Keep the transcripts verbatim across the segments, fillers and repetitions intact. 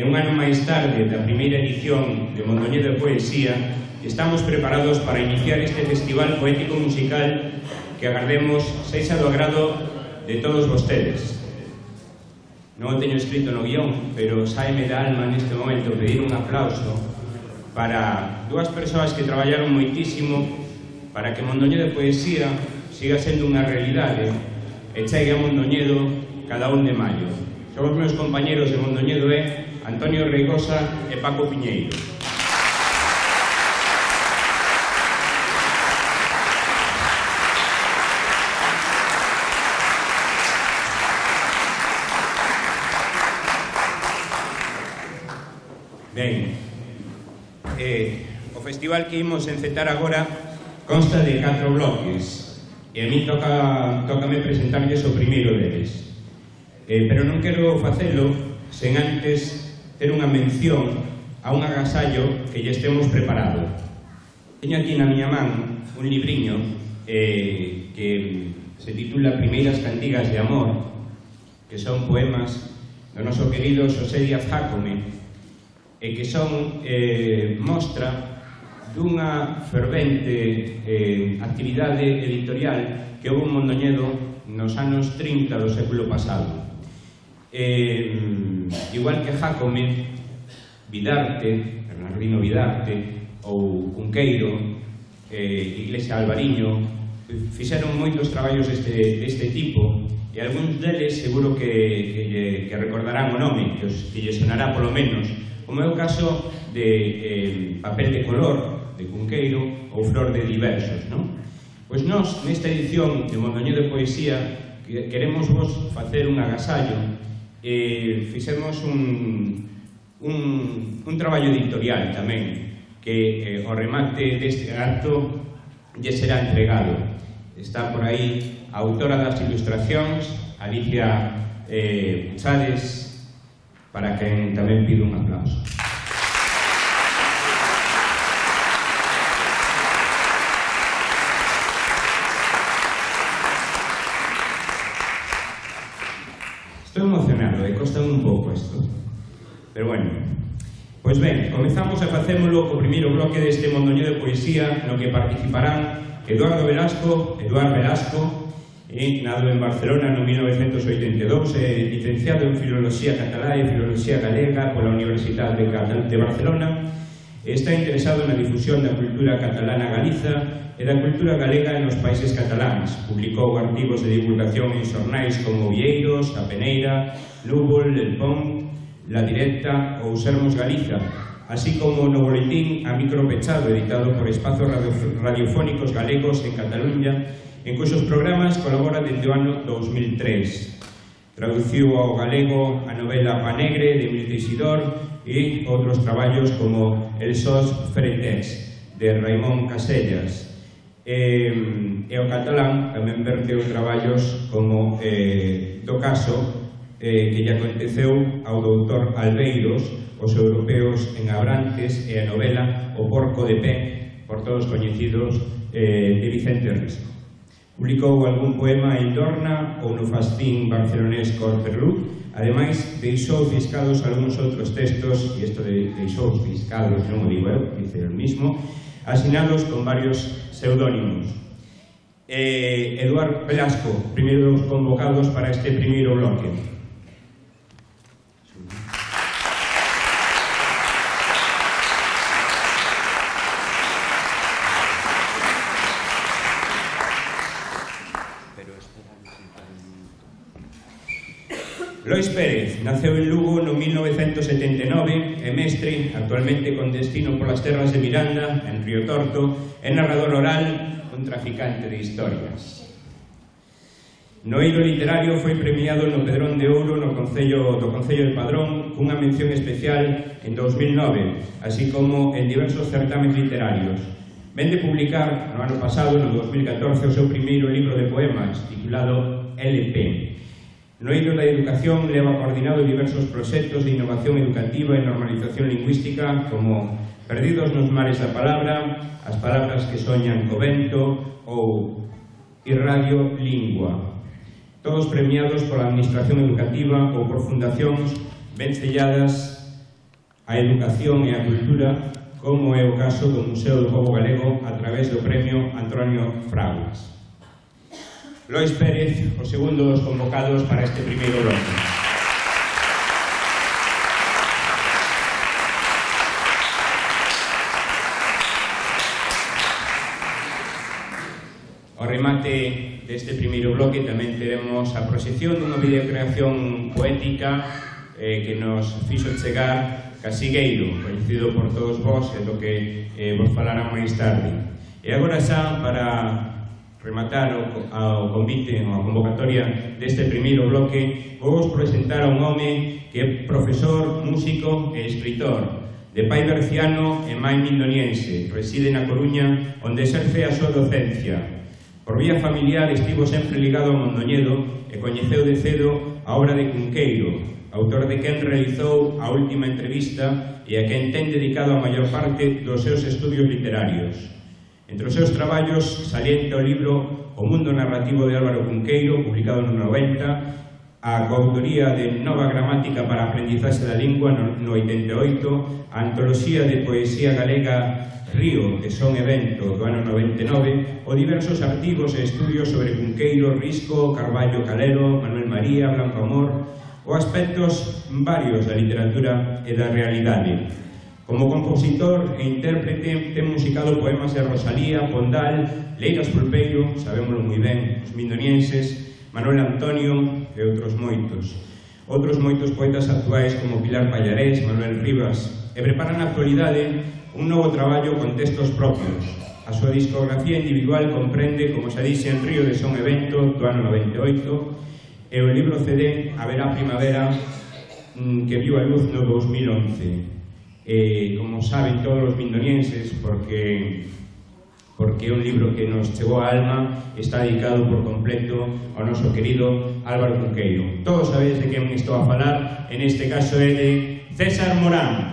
e un ano máis tarde da primeira edición de Mondoñedo de Poesía, estamos preparados para iniciar este festival poético musical que agardemos sexa do agrado de todos vostedes. Non o teño escrito no guión, pero saime da alma neste momento pedir un aplauso para dúas persoas que traballaron moitísimo para que Mondoñedo de Poesía siga sendo unha realidade e chegue a Mondoñedo cada un de maio. Son os meus compañeros de Mondoñedo é Antonio Reigosa e Paco Piñeiro. Ben, eh, o festival que imos encetar agora consta de catro bloques e a mí toca, tócame presentarlles o primeiro deles, eh, pero non quero facelo sen antes ter unha mención a un agasallo que lle estemos preparado. Teño aquí na miña man un libriño eh, que se titula Primeiras cantigas de amor, que son poemas do noso querido Xosé Díaz Jácome, e que son eh, mostra dunha fervente eh, actividade editorial que houve en Mondoñedo nos anos trinta do século pasado. Eh, igual que Jácome, Vidarte, Bernardino Vidarte ou Cunqueiro, eh, Iglesia Alvariño, fixeron moitos traballos deste, deste tipo, e algúns deles seguro que, que, que recordarán o nome, que, os, que lle sonará polo menos, como é o caso de eh, Papel de color, de Cunqueiro, ou Flor de diversos, non? Pois nós, nesta edición de Mondoñedo de Poesía, que queremos vos facer un agasallo, e fixemos un, un, un traballo editorial tamén, que eh, o remate deste acto lle será entregado. Está por aí a autora das ilustracións, Alicia eh, Puchades, para quen tamén pido un aplauso. Estou emocionado e costa un pouco isto, pero bueno. Pois ben, comezamos a facémolo co primeiro bloque deste Mondoñedo de Poesía, no que participarán Eduardo Velasco, Eduard Velasco, e nado en Barcelona no mil novecentos oitenta e dous, é licenciado en Filoloxía Catalá e Filoloxía Galega pola Universidade de Barcelona. Está interesado na difusión da cultura catalana galiza e da cultura galega nos países cataláns. Publicou artigos de divulgación en xornais como Vieiros, A Peneira, Lúbol, El Pont, La Directa ou Sermos Galiza, así como no boletín A Micro Pechado, editado por Espazos Radiofónicos Galegos en Cataluña, en cuxos programas colabora dende o ano dous mil tres. Traduciu ao galego a novela Panegre de Emil Teixidor e outros traballos como El Sos Fretes de Raimón Casellas. E, e o catalán tamén verteu traballos como eh, do caso eh, que lle aconteceu ao doutor Albeiros, Os europeos en Abrantes, e a novela O porco de pé, por todos coñecidos, eh, de Vicente Risco. Publicou algún poema en Dorna ou no fascín barcelonés Corperlú. Ademais, deixou fiscados algúns outros textos, e isto de deixou fiscados, non o digo eu, dice el mismo, asinados con varios pseudónimos. Eh, Eduard Velasco, primeiro dos convocados para este primeiro bloque. Lois Pérez naceu en Lugo no mil novecentos setenta e nove, é mestre, actualmente con destino polas terras de Miranda, en Río Torto, é narrador oral, un traficante de historias. No eido literario foi premiado no Pedrón de Ouro no Concello, do Concello de Padrón cunha mención especial en dous mil nove, así como en diversos certámenes literarios. Ven de publicar no ano pasado, no dous mil catorce, o seu primeiro libro de poemas, titulado L P. No eido da educación leva coordinado diversos proxectos de innovación educativa e normalización lingüística como Perdidos nos mares da palabra, As palabras que soñan co vento ou Irradio Lingua. Todos premiados pola Administración Educativa ou por fundacións ben selladas a educación e a cultura, como é o caso do Museo do Pobo Galego a través do Premio Antonio Fraguas. Lois Pérez, o segundo dos convocados para este primeiro bloque. Ao remate deste primeiro bloque tamén teremos a proxección dunha videocreación poética eh, que nos fixo chegar Casigueiro, coñecido por todos vós e do que eh, vos falará máis tarde. E agora xa, para rematar o, ao convite ou a convocatoria deste primeiro bloque, vou vos presentar a un home que é profesor, músico e escritor, de pai berciano e mai mindoniense, reside na Coruña, onde exerce a súa docencia. Por vía familiar estivo sempre ligado ao Mondoñedo e coñeceu de cedo a obra de Cunqueiro, autor de quen realizou a última entrevista e a quen ten dedicado a maior parte dos seus estudios literarios. Entre os seus traballos salienta o libro O mundo narrativo de Álvaro Cunqueiro, publicado no noventa, a coautoría de Nova gramática para a aprendizaxe da lingua no oitenta e oito, a antoloxía de poesía galega Río, de Son e Vento, do ano noventa e nove, o diversos artigos e estudios sobre Cunqueiro, Risco, Carballo Calero, Manuel María, Blanco Amor, ou aspectos varios da literatura e da realidade. Como compositor e intérprete, ten musicado poemas de Rosalía, Pondal, Leiras Pulpeiro, sabémoslo moi ben, os mindonienses, Manuel Antonio e outros moitos. Outros moitos poetas actuais como Pilar Pallarés, Manuel Rivas, e preparan na actualidade un novo traballo con textos propios. A súa discografía individual comprende, como se dixe, en Río de Son e Vento, do ano noventa e oito, e o libro C D Haberá Primavera, que viu a luz no dos mil once. E, como saben todos os mindonienses, porque porque é un libro que nos chegou á alma, está dedicado por completo ao noso querido Álvaro Cunqueiro. Todos sabedes de quen estou a falar, en este caso é de César Morán.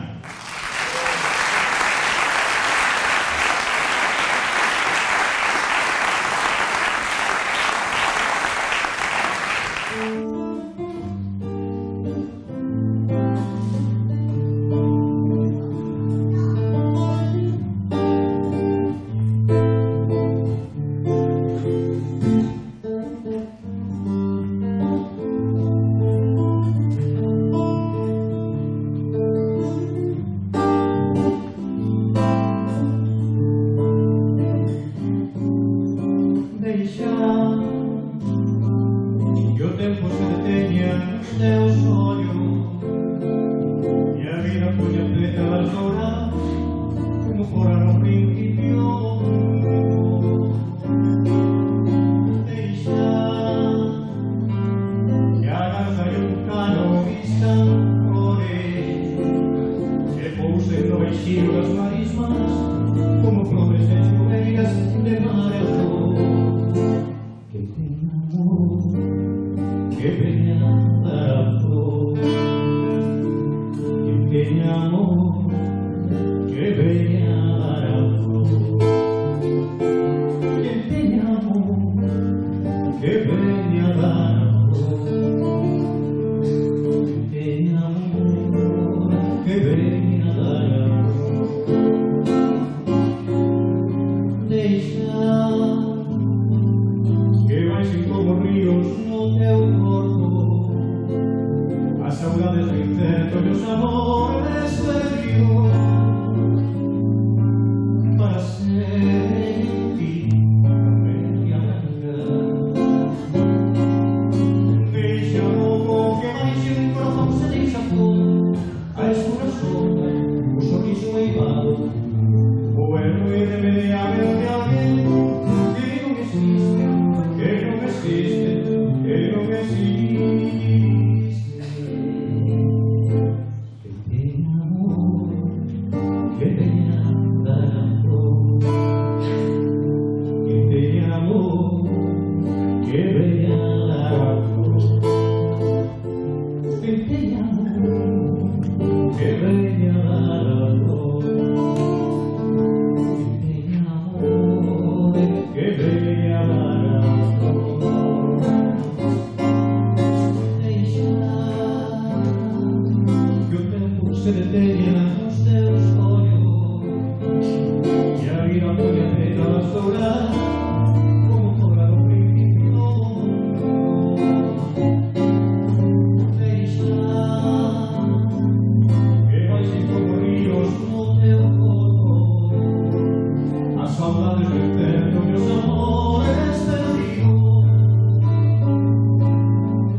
saudades do inferno, meus amores perdidos,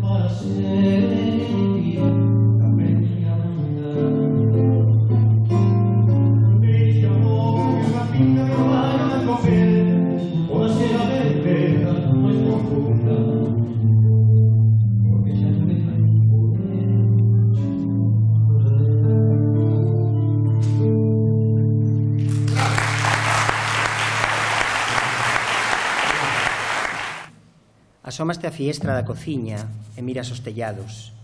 para sempre a miña banda. Deixa amor que unha pinta que vaya a coger, pode ser a verteda máis profunda, porque xa non me fai poder Asomaste a fiestra da cociña e miras os tellados,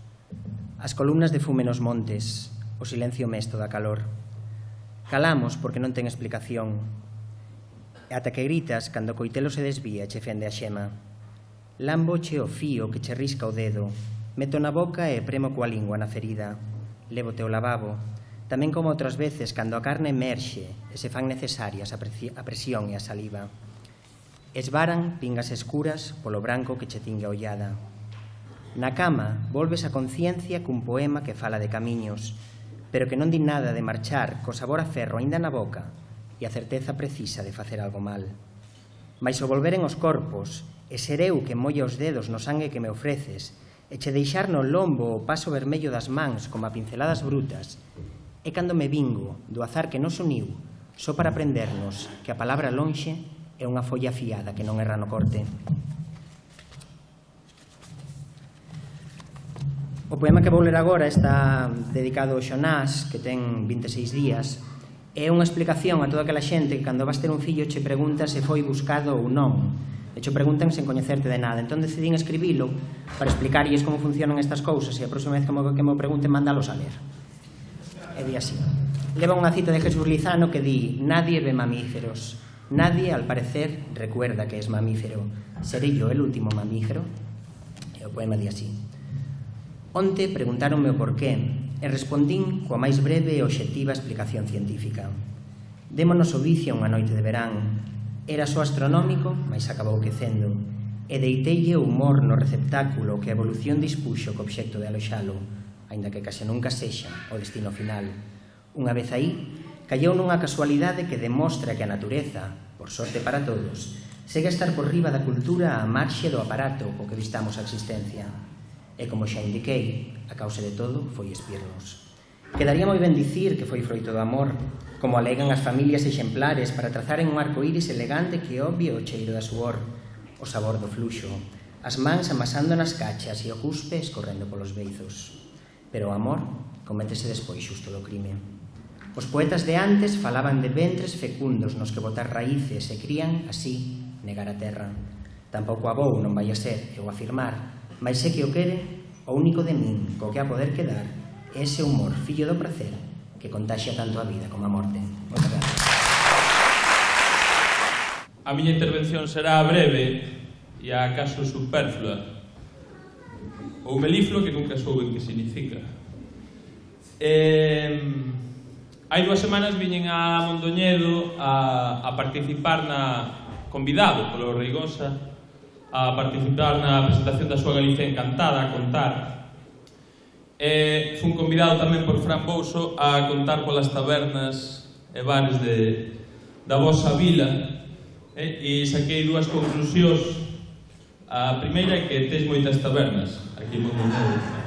as columnas de fume nos montes, o silencio mesto da calor. Calamos porque non ten explicación, e ata que gritas cando o coitelo se desvía e che fende a xema. Lamboche o fío que che risca o dedo, meto na boca e premo coa lingua na ferida. Lévote o lavabo, tamén como outras veces cando a carne emerxe e se fan necesarias a presión e a saliva. Esvaran pingas escuras polo branco que che tingue a ollada. Na cama volves a conciencia cun poema que fala de camiños, pero que non di nada de marchar co sabor a ferro aínda na boca e a certeza precisa de facer algo mal. Mais o volveren os corpos, e ser eu que molla os dedos no sangue que me ofreces, e che deixar no lombo o paso vermello das mans como a pinceladas brutas, é cando me vingo do azar que nos uniu só para aprendernos que a palabra lonxe é unha folla afiada que non erra no corte. O poema que vou ler agora está dedicado ao Xonás, que ten vinte e seis días. É unha explicación a toda aquela xente que cando vas ter un fillo che pregunta se foi buscado ou non. E che preguntan sen coñecerte de nada. Entón decidín escribilo para explicarlles como funcionan estas cousas e a próxima vez que me pregunten mandalos a ler. E di así. Leva unha cita de Jesús Lizano que di: nadie ve mamíferos. Nadie, al parecer, recuerda que es mamífero. ¿Seré yo el último mamífero? E o poema di así. Onte preguntáronme o porqué e respondín coa máis breve e obxectiva explicación científica. Démonos o vicio unha noite de verán. Era só astronómico, mas acabou quecendo, e deiteille o humor no receptáculo que a evolución dispuxo co obxecto de aloxalo, aínda que case nunca sexa o destino final. Unha vez aí, callou nunha casualidade que demostra que a natureza, por sorte para todos, segue a estar por riba da cultura á marxe do aparato co que vistamos a existencia. E como xa indiquei, a causa de todo foi espirnos. Quedaría moi ben dicir que foi froito do amor, como alegan as familias exemplares para trazaren un arco iris elegante que obvie o cheiro da suor, o sabor do fluxo, as mans amasando nas cachas e o cuspe escorrendo polos beizos. Pero o amor cométese despois xusto do crime. Os poetas de antes falaban de ventres fecundos nos que botar raíces e crían, así, negar a terra. Tampouco a vou, non vai a ser, eu afirmar, mas sé que o quere, o único de min, co que a poder quedar, é ese humor, fillo do prazer, que contaxia tanto a vida como a morte. Moitas gracias. A miña intervención será breve e acaso superflua, ou melifluo, que nunca souben que significa. Eh... Hai dúas semanas viñen a Mondoñedo a, a participar na, convidado polo Reigosa, a participar na presentación da súa Galicia Encantada, a contar. E fun convidado tamén por Fran Bouso a contar polas tabernas e bares de, da vosa vila, e, e saquei dúas conclusións. A primeira é que tes moitas tabernas aquí en Mondoñedo.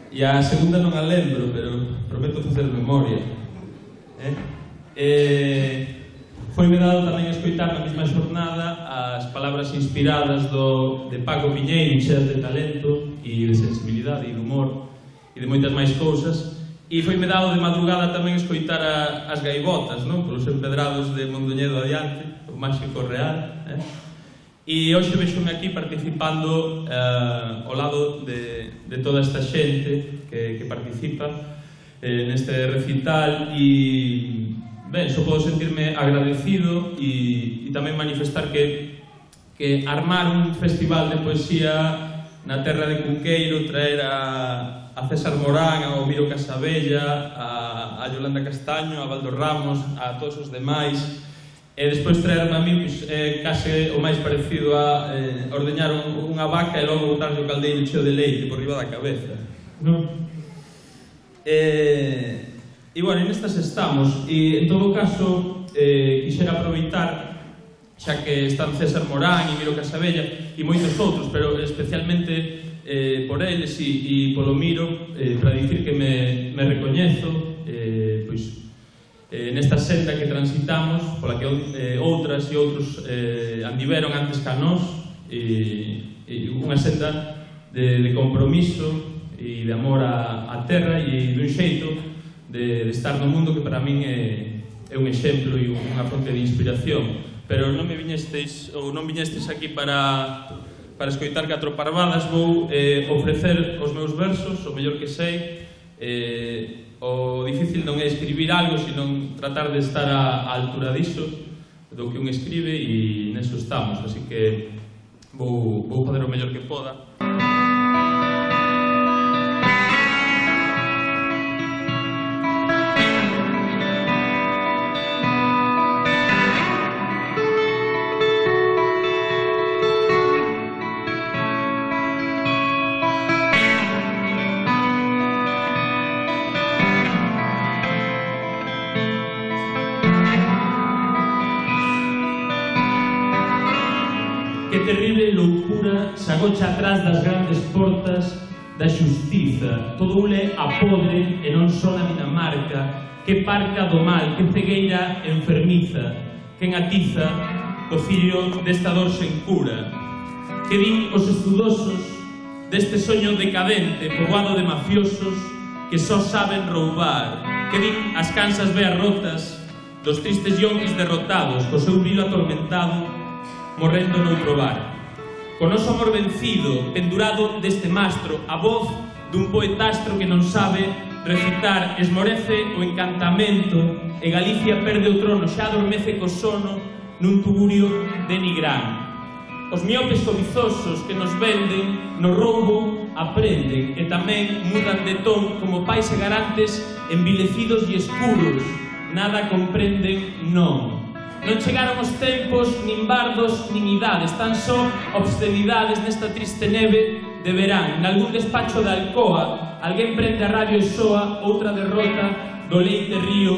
E a segunda non a lembro, pero prometo facer memoria. Eh? Eh, Foi-me dado tamén escoitar na mesma xornada as palabras inspiradas do, de Paco Piñeiro, cheas de talento e de sensibilidade e de humor e de moitas máis cousas. E foi-me dado de madrugada tamén escoitar a, as gaivotas, non? Polos empedrados de Mondoñedo adiante, o máxico real. Eh? E hoxe vexome aquí participando eh, ao lado de, de toda esta xente que, que participa eh, neste recital e, ben, só podo sentirme agradecido e, e tamén manifestar que, que armar un festival de poesía na terra de Cunqueiro, traer a, a César Morán, a Miro Casabella, a, a Yolanda Castaño, a Valdo Ramos, a todos os demais, e despois traerme a mí pues, eh, case o máis parecido a eh, ordeñar un, unha vaca e logo botarlle o caldeiro cheo de leite por riba da cabeza, non? E, e bueno, nestas estamos, e en todo caso quixera aproveitar, xa que están César Morán e Miro Casabella e moitos outros, pero especialmente por eles e polo Miro, para dicir que me recoñezo nesta senda que transitamos, pola que outras e outros andiveron antes que a nós, e unha senda de compromiso e de amor á terra e dun xeito de estar no mundo que para min é un exemplo e unha fonte de inspiración. Pero non me viñestes, ou non viñestes aquí para para escoitar catro parvadas. Vou ofrecer os meus versos, o mellor que sei. O difícil non é escribir algo, sino tratar de estar á altura diso, do que un escribe, e neso estamos, así que vou fazer o mellor que poda. Que terrible loucura se agocha atrás das grandes portas da xustiza. Todo ule a podre e non só na Dinamarca. Que parca do mal, que cegueira enfermiza, que atiza o fillo desta dor sen cura. Que din os estudosos deste soño decadente poboado de mafiosos que só saben roubar. Que din as cansas veas rotas dos tristes yonquis derrotados co seu brillo atormentado morrendo noutro bar. Con noso amor vencido, pendurado deste mastro, a voz dun poetastro que non sabe recitar, esmorece o encantamento e Galicia perde o trono, xa adormece co sono nun tugurio de Nigrán. Os miopes cobizosos que nos venden no roubo aprenden e tamén mudan de ton como pais e garantes envilecidos e escuros. Nada comprenden, non. Non chegaron os tempos, nin bardos, nin idades, tan só obscenidades nesta triste neve de verán. Nalgún despacho de Alcoa, alguén prende a radio e soa outra derrota do leite río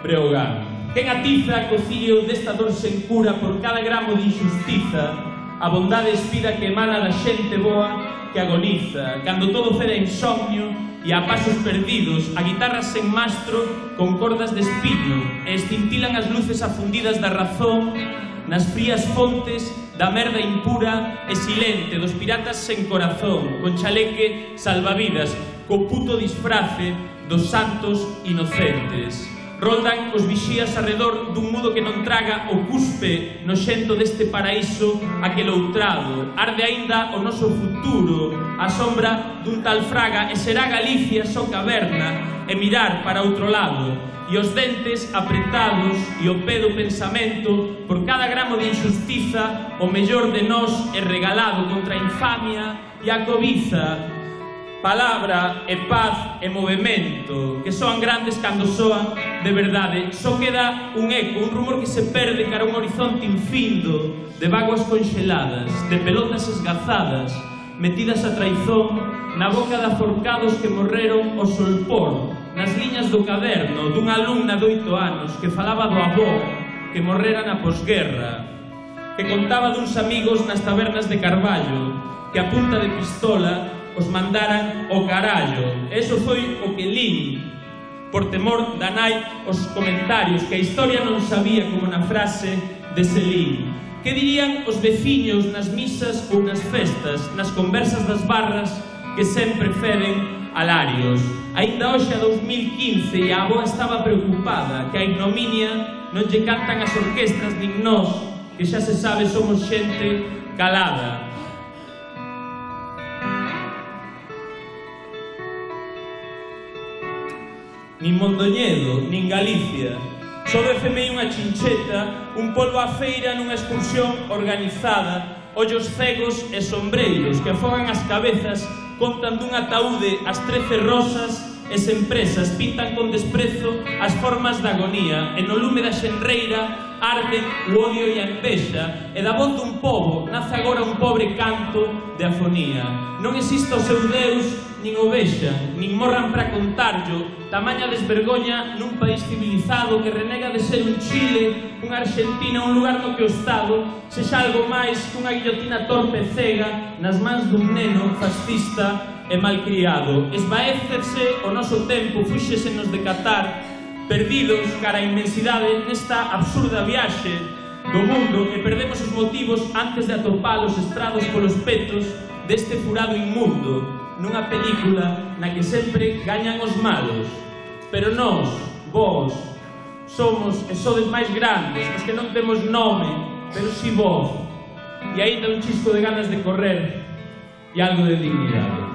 Breogán. Quen atiza co cío desta dor sen cura por cada gramo de injustiza, a bondade espida que emana da xente boa que agoniza. Cando todo ceda insomnio e a pasos perdidos, a guitarra sen mastro con cordas de espino, e escintilan as luces afundidas da razón nas frías fontes da merda impura e silente dos piratas sen corazón, con chaleque salvavidas, co puto disfrace dos santos inocentes. Roldan os vixías arredor dun mudo que non traga o cuspe noxento deste paraíso aqueloutrado. Arde aínda o noso futuro, a sombra dun tal Fraga, e será Galicia só caverna e mirar para outro lado. E os dentes apretados e o pé do pensamento, por cada gramo de injustiza, o mellor de nós é regalado contra a infamia e a cobiza. Palabra e paz e movemento, que soan grandes cando soan de verdade. Só queda un eco, un rumor que se perde cara a un horizonte infindo de vaguas conxeladas, de pelotas esgazadas, metidas a traizón na boca de aforcados que morreron ao solpor, nas liñas do caderno dunha alumna de oito anos que falaba do avó que morrera na posguerra, que contaba duns amigos nas tabernas de Carballo, que a punta de pistola os mandaran o carallo. Eso foi o que lin, por temor da nai, os comentarios que a historia non sabía como na frase de Selín. Que dirían os veciños nas misas ou nas festas, nas conversas das barras que sempre feden alarios. Ainda hoxe a dos mil quince e a avoa estaba preocupada que a ignominia non lle cantan as orquestras nin nós, que xa se sabe somos xente calada. Nin Mondoñedo, nin Galicia. Só defemei unha chincheta, un polvo á feira nunha excursión organizada, ollos cegos e sombreiros que afogan as cabezas, contan dun ataúde as trece rosas e sen presas, pintan con desprezo as formas da agonía, e no lume da xenreira arden o odio e a envexa, e da voz dun pobo nace agora un pobre canto de afonía. Non existe o seu Deus, nin o vexan, nin morran para contarlo, tamaña desvergoña nun país civilizado que renega de ser un Chile, unha Argentina, un lugar no que o Estado sexa algo máis que unha guillotina torpe e cega nas mans dun neno fascista e malcriado. Esvaécese o noso tempo, fúxesenos de catar, perdidos cara a inmensidade nesta absurda viaxe do mundo, e perdemos os motivos antes de atopalos estrados polos petos deste furado inmundo, nunha película na que sempre gañan os malos. Pero nós, vós, somos e sodes máis grandes, os que non temos nome, pero si vós, e aí ten un chisco de ganas de correr e algo de dignidade.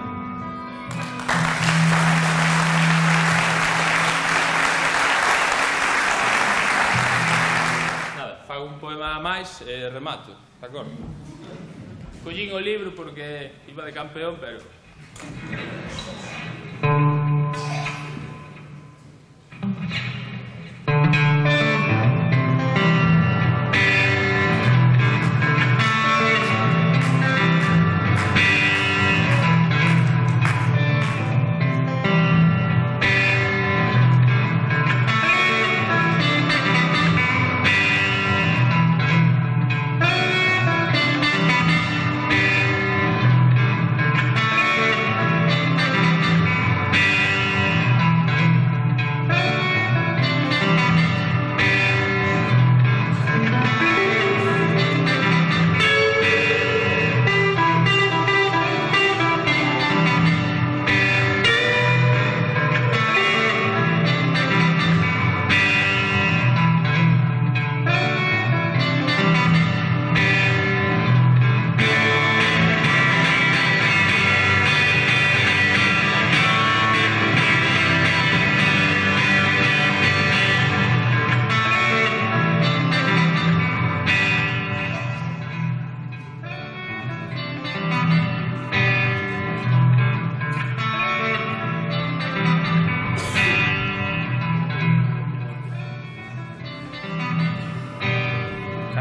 Un poema máis e remato, de acordo? Collín o libro porque iba de campeón, pero...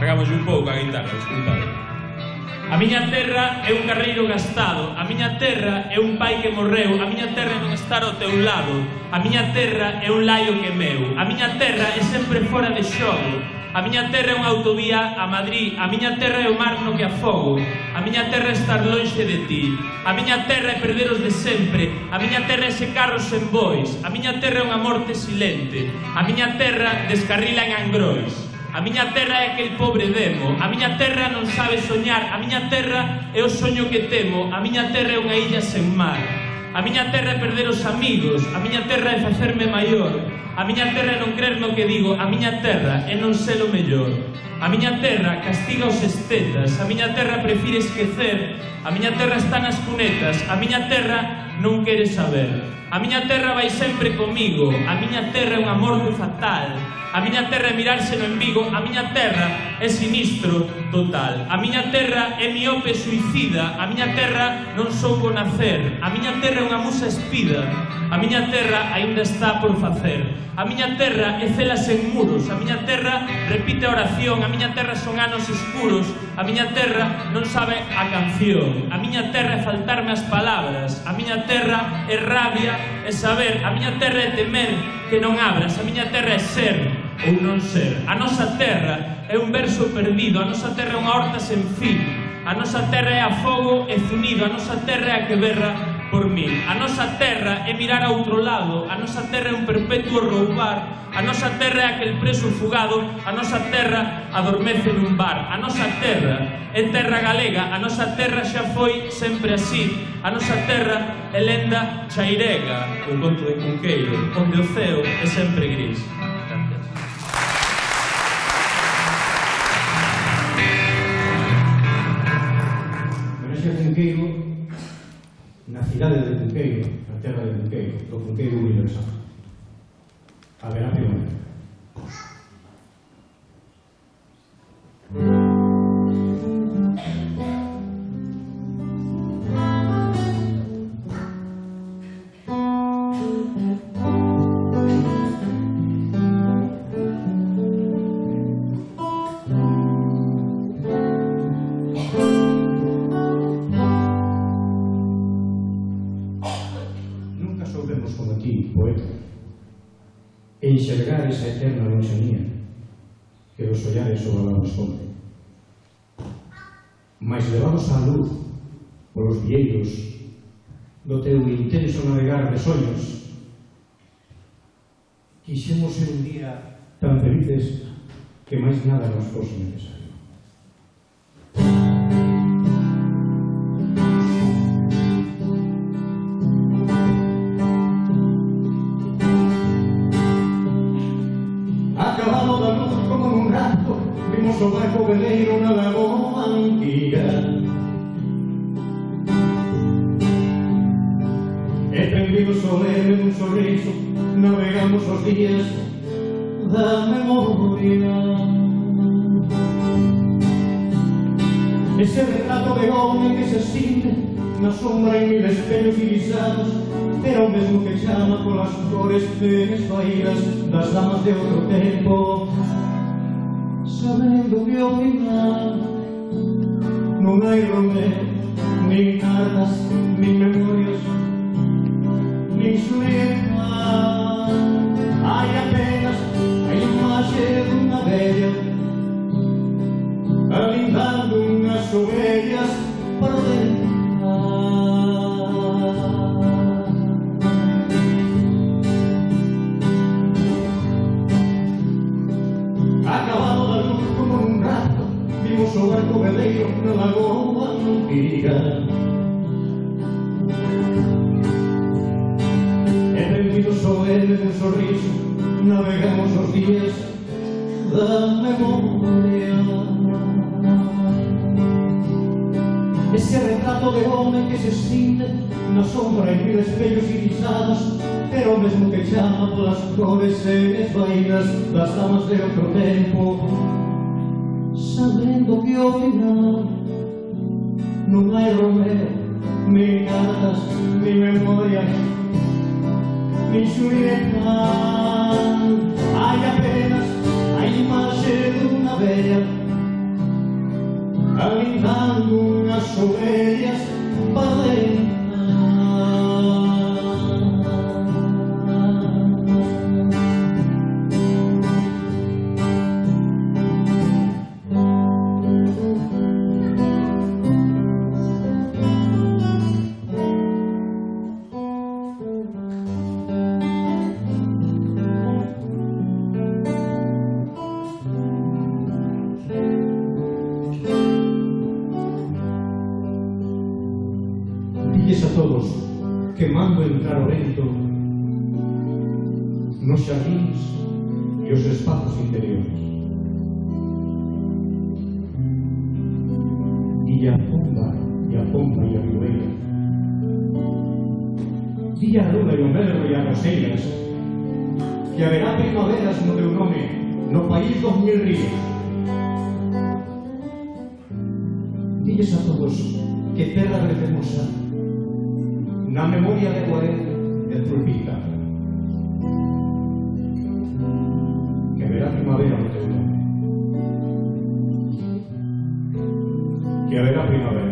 Cargamos un pouco a guitarra, disculpade. A miña terra é un carreiro gastado, a miña terra é un pai que morreu, a miña terra é non estar ao teu lado, a miña terra é un laio que meu, a miña terra é sempre fora de xogo, a miña terra é unha autovía a Madrid, a miña terra é o mar no que afogo, a miña terra é estar lonxe de ti, a miña terra é perderos de sempre, a miña terra é ese carro sen bois, a miña terra é unha morte silente, a miña terra descarrila en Angrois. A miña terra é aquel pobre demo, a miña terra non sabe soñar, a miña terra é o soño que temo, a miña terra é unha illa sen mar. A miña terra é perder os amigos, a miña terra é facerme maior, a miña terra é non crer no que digo, a miña terra é non ser o mellor. A miña terra castiga os estetas, a miña terra prefire esquecer, a miña terra está nas cunetas, a miña terra non quere saber. A miña terra vai sempre comigo, a miña terra é unha morte fatal, a miña terra é mirarse no embigo, a miña terra é sinistro total, a miña terra é miope suicida, a miña terra non soubo nacer, a miña terra é unha musa espida, a miña terra aínda está por facer, a miña terra é celas en muros, a miña terra repite a oración, a miña terra son anos escuros, a miña terra non sabe a canción, a miña terra é faltarme as palabras, a miña terra é rabia, é saber, a miña terra é temer que non abras, a miña terra é ser ou non ser. A nosa terra é un verso perdido, a nosa terra é unha horta sen fin, a nosa terra é a fogo e zunido, a nosa terra é a que berra por min. A nosa terra é mirar a outro lado, a nosa terra é un perpetuo roubar, a nosa terra é aquel preso fugado, a nosa terra adormece nun bar, a nosa terra é terra galega, a nosa terra xa foi sempre así, a nosa terra é lenda chairega, un conto de Cunqueiro, onde o ceo é sempre gris. Cunqueiro, na cidade de Cunqueiro, na terra de Cunqueiro, do Cunqueiro universal. Haberá primavera. poeta, enxergar esa eterna lonxanía que os ollares o balón esconde. Mais levados á luz polos vieiros do teu intenso navegar de soños, quixemos ser un día tan felices que máis nada nos fose necesario. Acabado da luz como nun rato, vimos o barco veleiro na lagoa antiga. E prendido solene nun sorriso, navegamos os días da memoria. Ese retrato de home que se extingue na sombra en mil espellos irisados, era o mesmo que chama polas cores desvaídas das damas de outro tempo, sabendo que ao final non hai Romeo, nin cartas, nin memorias, nin Xulieta. Hai apenas a imaxe dunha vella alindando unhas ovellas para dentro. Acabado da luz como nun rato, vimos o barco veleiro na lagoa antiga. E prendido solene dun sorriso, navegamos os días da memoria. Ese retrato de home que se extingue na sombra en mil espellos irisados, era o mesmo que chama polas cores esvaídas das damas de outro tempo, sabendo que ao final non hai Romeo, nin cartas, nin memorias, nin Xulieta. Hai apenas a imaxe dunha vella alindando unhas ovellas para dentro. Dilles a todos que mando entrar o vento nos xardíns e os espazos interiores. Dille a pomba e a pomba e a vihuela, dille a luna e o melro e a roseiras que haberá primaveras no teu nome no país dos mil ríos. Dilles a todos que terra verdemosa na memoria de Guarén e Zulpita, que verá primavera no teu nome, que haberá primavera.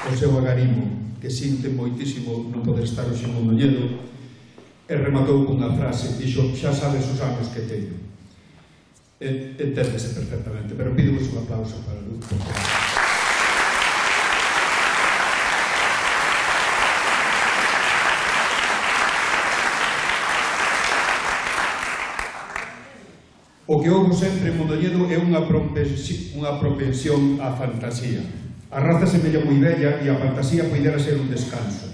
o seu agarimo, que sinte moitísimo non poder estar hoxe en Mondoñedo, e rematou cunha frase, dixo, xa sabes os anos que teño. Enténdese perfectamente, pero pídovos un aplauso para Luz, por favor. O que houve sempre en Mondoñedo é unha propensión á fantasía. A raza semella moi bella e a fantasía poidera ser un descanso.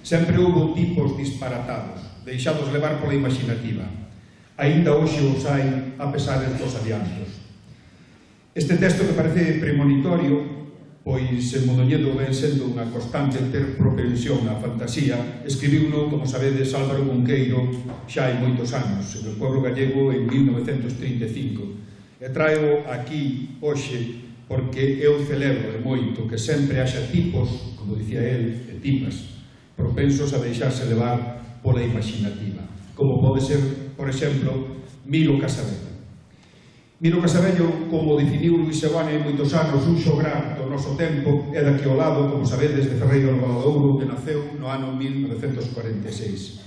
Sempre houve tipos disparatados, deixados levar pola imaginativa. Aínda hoxe os hai, a pesar dos adiantos. Este texto que parece premonitorio, pois en Mondoñedo ven sendo unha constante ter propensión á fantasía, escribiuno, como sabedes, Álvaro Cunqueiro xa hai moitos anos, en o pueblo gallego en mil novecentos trinta e cinco. E traio aquí hoxe porque eu celebro de moito que sempre haxa tipos, como dicía el, e tipas, propensos a deixarse levar pola imaginativa, como pode ser, por exemplo, Miro Casabello. Miro Casabello, como definiu Luis Seoane hai moitos anos, un xograr do noso tempo, é daqui ao lado, como sabedes, de Ferreiro do Valadouro, que naceu no ano mil novecentos cuarenta e seis.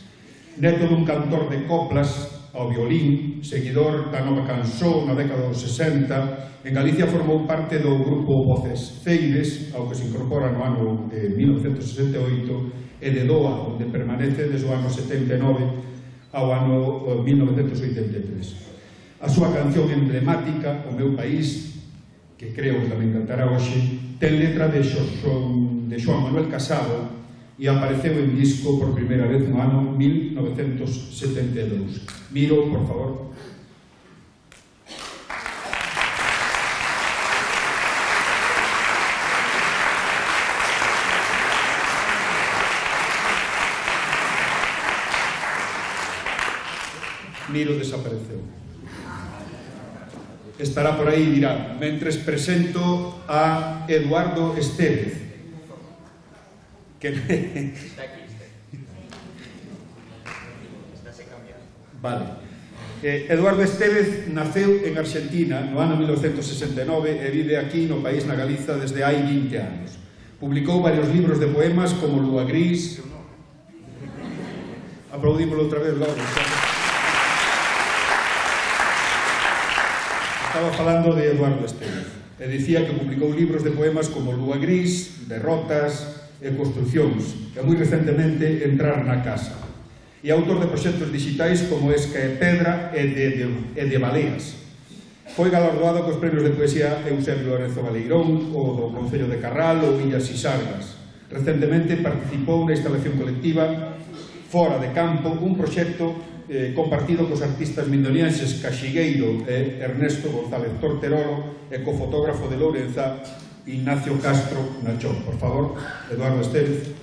Neto dun cantor de coplas ao violín, seguidor da nova canción na década dos sesenta, en Galicia formou parte do grupo Voces Ceibes, ao que se incorpora no ano de mil novecentos sesenta e oito, e de Doa, onde permanece desde o ano setenta e nove ao ano mil novecentos oitenta e tres. A súa canción emblemática, O meu país, que creo que tamén cantará hoxe, ten letra de Xoán Manuel Casado e apareceu en disco por primeira vez no ano mil novecentos setenta e dous. Miro, por favor. Miro desapareceu. Estará por aí, dirá. Mentres presento a Eduardo Estévez, que está aquí, está aquí. Estáse cambiando. Vale. Eh, Eduardo Estévez naceu en Argentina no ano mil novecentos sesenta e nove e vive aquí no país, na Galiza, desde hai vinte anos. Publicou varios libros de poemas como Lúa Gris. Aplaudímoslo outra vez, Laura. Estaba falando de Eduardo Estévez e dicía que publicou libros de poemas como Lúa Gris, Derrotas e Construcións, e moi recentemente Entrar na casa. E autor de proxectos digitais como Esca e Pedra e de, de, e de Baleas. Foi galardoado cos premios de poesía Eusebio Lorenzo Baleirón, o do Concello de Carral ou Illas Sisargas. Recentemente participou na instalación colectiva Fora de Campo, un proxecto eh, compartido cos artistas mindonienses Caxigueiro e Ernesto González Torterolo e co fotógrafo de Lourenza Ignacio Castro Nachón. Por favor, Eduardo Estévez.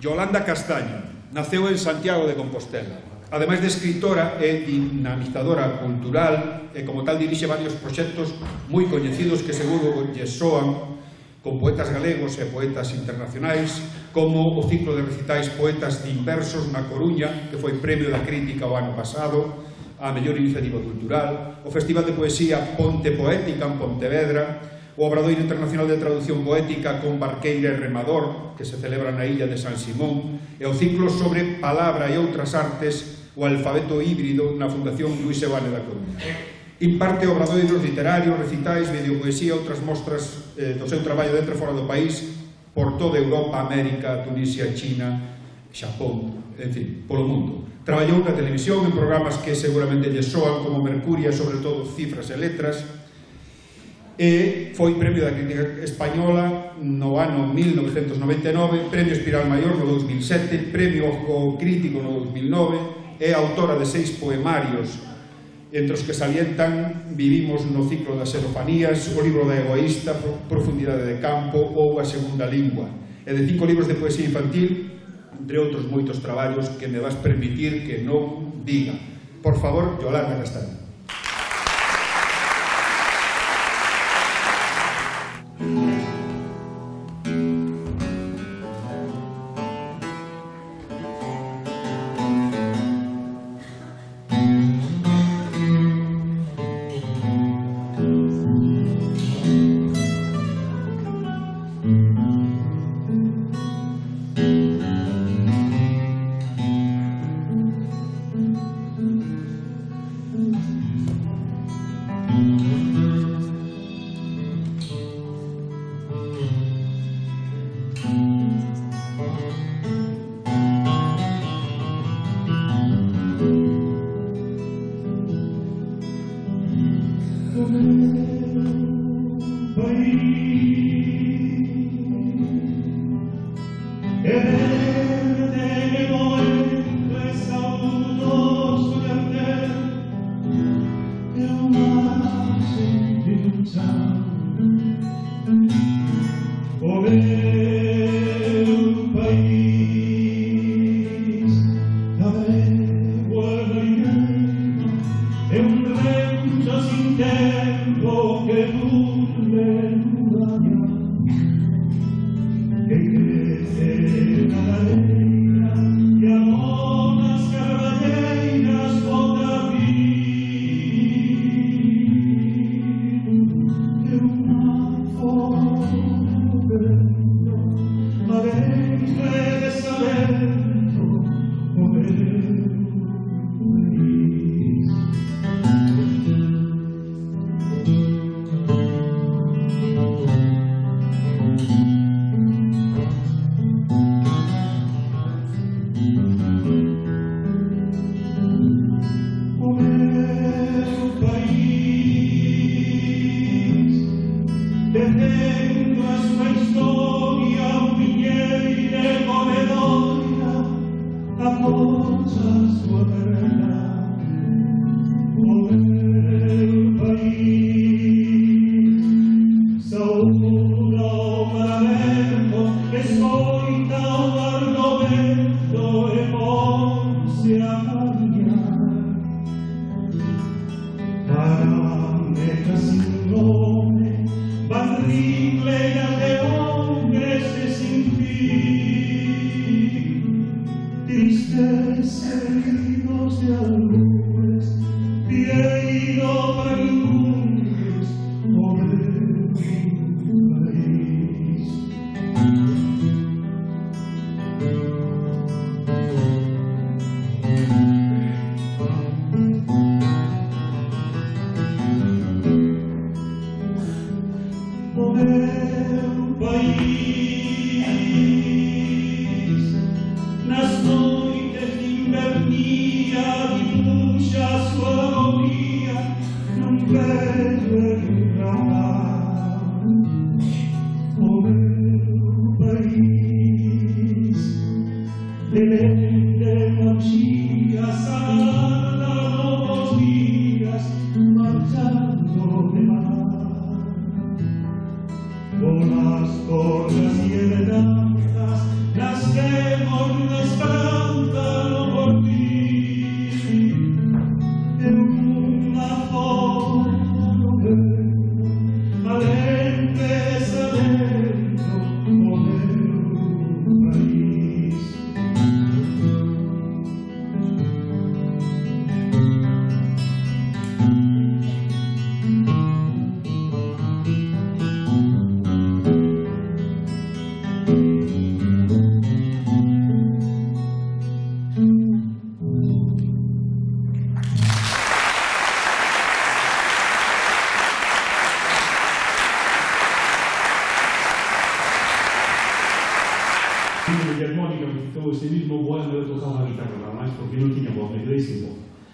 Yolanda Castaño naceu en Santiago de Compostela. Ademais de escritora e dinamizadora cultural, e como tal dirixe varios proxectos moi coñecidos que seguro lle soan, con poetas galegos e poetas internacionais, como o ciclo de recitais Poetas Inversos na Coruña, que foi premio da crítica o ano pasado, a mellor iniciativa cultural, o Festival de Poesía Ponte Poética en Pontevedra, o Obradoiro Internacional de Traducción Poética con Barqueira e Remador, que se celebra na illa de San Simón, e o ciclo sobre palabra e outras artes, o alfabeto híbrido na Fundación Luis Seoane da Coruña. Imparte obradoiros literarios, recitais, videopoesía e outras mostras eh, do seu traballo dentro e fora do país por toda Europa, América, Tunisia, China, Xapón, en fin, polo mundo. Traballou na televisión en programas que seguramente lle soan como Mercuria, sobre todo Cifras e Letras, e foi premio da crítica española no ano mil novecentos noventa e nove, premio Espiral Maior no dous mil sete, premio Ojo Crítico no dous mil nove, é autora de seis poemarios, entre os que salientan Vivimos no ciclo das xerofanías, o libro da egoísta, Profundidade de campo ou A segunda lingua, e de cinco libros de poesía infantil, entre outros moitos traballos que me vas permitir que non diga. Por favor, Yolanda Castaño.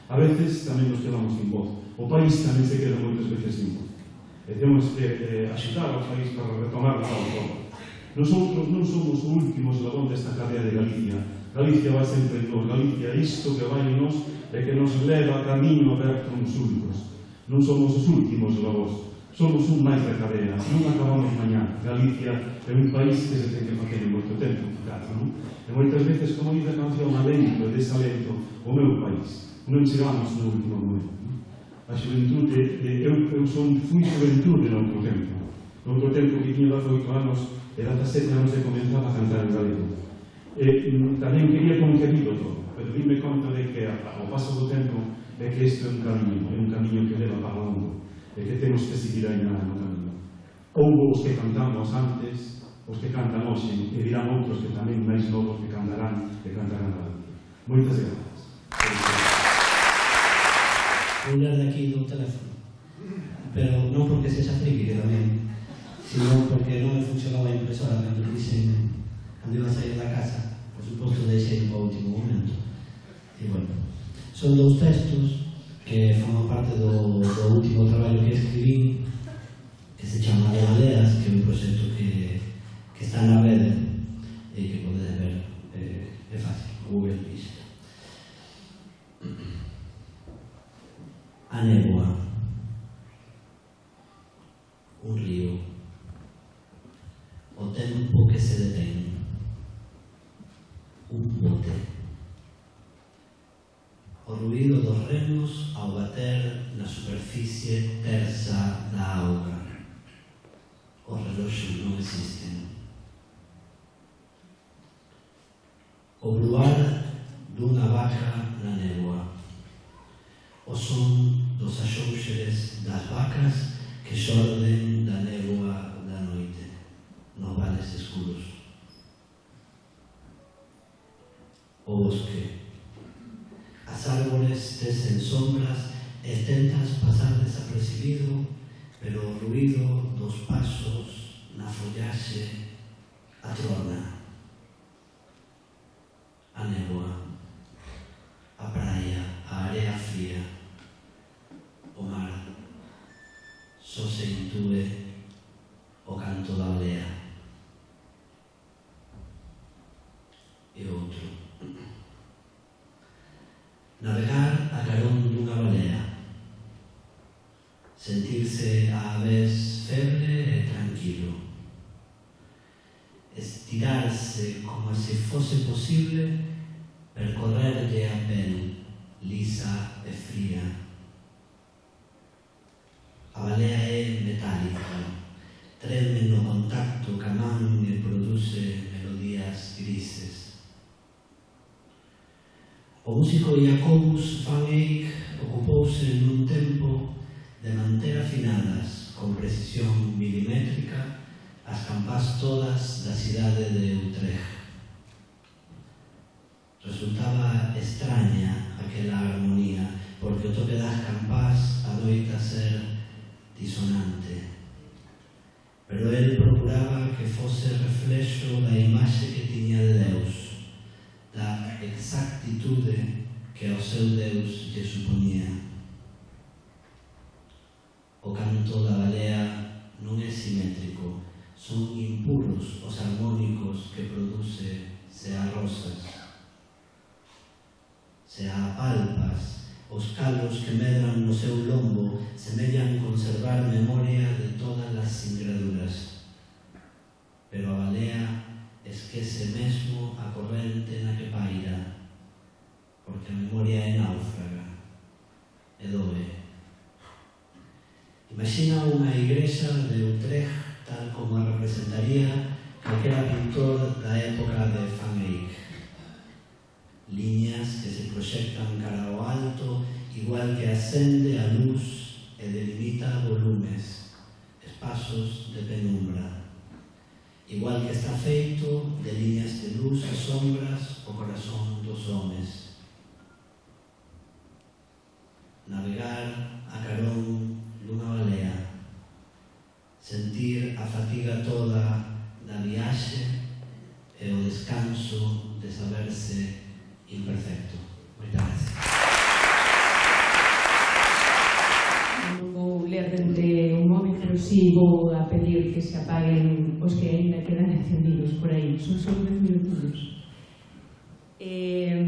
A veces tamén nos quedamos sin voz. O país tamén se queda moitas veces sin voz. E temos que eh, axutar ao país para retomar a autónoma. Nosotros non somos o último eslabón desta cadea de Galicia. Galicia vai sempre en nos. Galicia, isto que vai en nos, é que nos leva a camiño aberto uns únicos. Non somos os últimos eslabóns. Somos un máis da cadea. Non acabamos mañá. Galicia é un país que se ten que facer en moito tempo, claro, non? E moitas veces, como dice a canción, alento e desalento o meu país. Non chegamos no último momento. A xuventude, eu, eu son, fui xuventude no outro tempo. No outro tempo que tiña dezaoito anos e dezasete anos e comenzaba a cantar en galego. E tamén quería concebido todo, pero dime conta de que ao paso do tempo é que isto é un camiño, é un camiño que leva para o mundo, e que temos que seguir aí no camiño. Houbo os que cantamos antes, os que cantan hoxe, e dirán outros que tamén máis novos que cantarán e cantarán a Galicia. Moitas grazas. Vou ler de aquí do teléfono, pero non porque sexa friki tamén, sino porque non me funcionou a impresora cando dixen, cando iba a sair da casa, por suposto deixei no último momento. E bueno, son dous textos que forman parte do, do último traballo que escribí, que se chama De Baleas, que é un proxecto que, que está na rede e que podedes ver, eh, é fácil, o Google Vista. A néboa, un río, o tempo que se detén, un bote, o ruído dos remos ao bater na superficie tersa da auga. Os reloxos non existen. O bruar dunha vaca na néboa, o son dos axóuxeres das vacas que xorden da néboa da noite, nos vales escuros. O bosque, as árbores tecen sombras e tentas pasar desapercibido, pero o ruído dos pasos na follaxe atrona. A néboa, a praia, a area fría, o mar, só se intúe o canto da balea. E outro, navegar a carón dunha balea, sentirse á vez febre e tranquilo, estirarse como se fose posible percorrerlle a pel lisa e fría. A balea é metálica, treme no contacto ca man e produce melodías grises. O músico Jacobus van Eyck ocupouse nun tempo de manter afinadas con precisión milimétrica as campás todas da cidade de Utrecht. Resultaba extraña aquela armonía, porque o toque das campás adoita ser disonante. Pero el procuraba que fose reflexo da imaxe que tiña de Deus, da exactitude que ao seu Deus lle supoñía. O O canto da balea non é simétrico, son impuros os armónicos que produce se arrosas, se apalpas, os calos que medran no seu lombo semellan conservar memoria de todas as singraduras. Pero a balea esquece mesmo a corrente na que paira, porque a memoria é náufraga e doe. Imagina unha igrexa de Utrecht tal como a representaría calquera pintor da época de Van Eyck. Liñas que se proxectan cara ao alto, igual que ascende a luz e delimita volumes, espazos de penumbra. Igual que está feito de liñas de luz e sombras o corazón dos homes. Navegar a carón dunha balea, sentir a fatiga toda da viaxe e o descanso de saberse imperfecto. Moitas gracias. Non vou ler dende un móvil, pero si vou a pedir que se apaguen os que ainda quedan encendidos por aí. Son só dez minutos. Eh,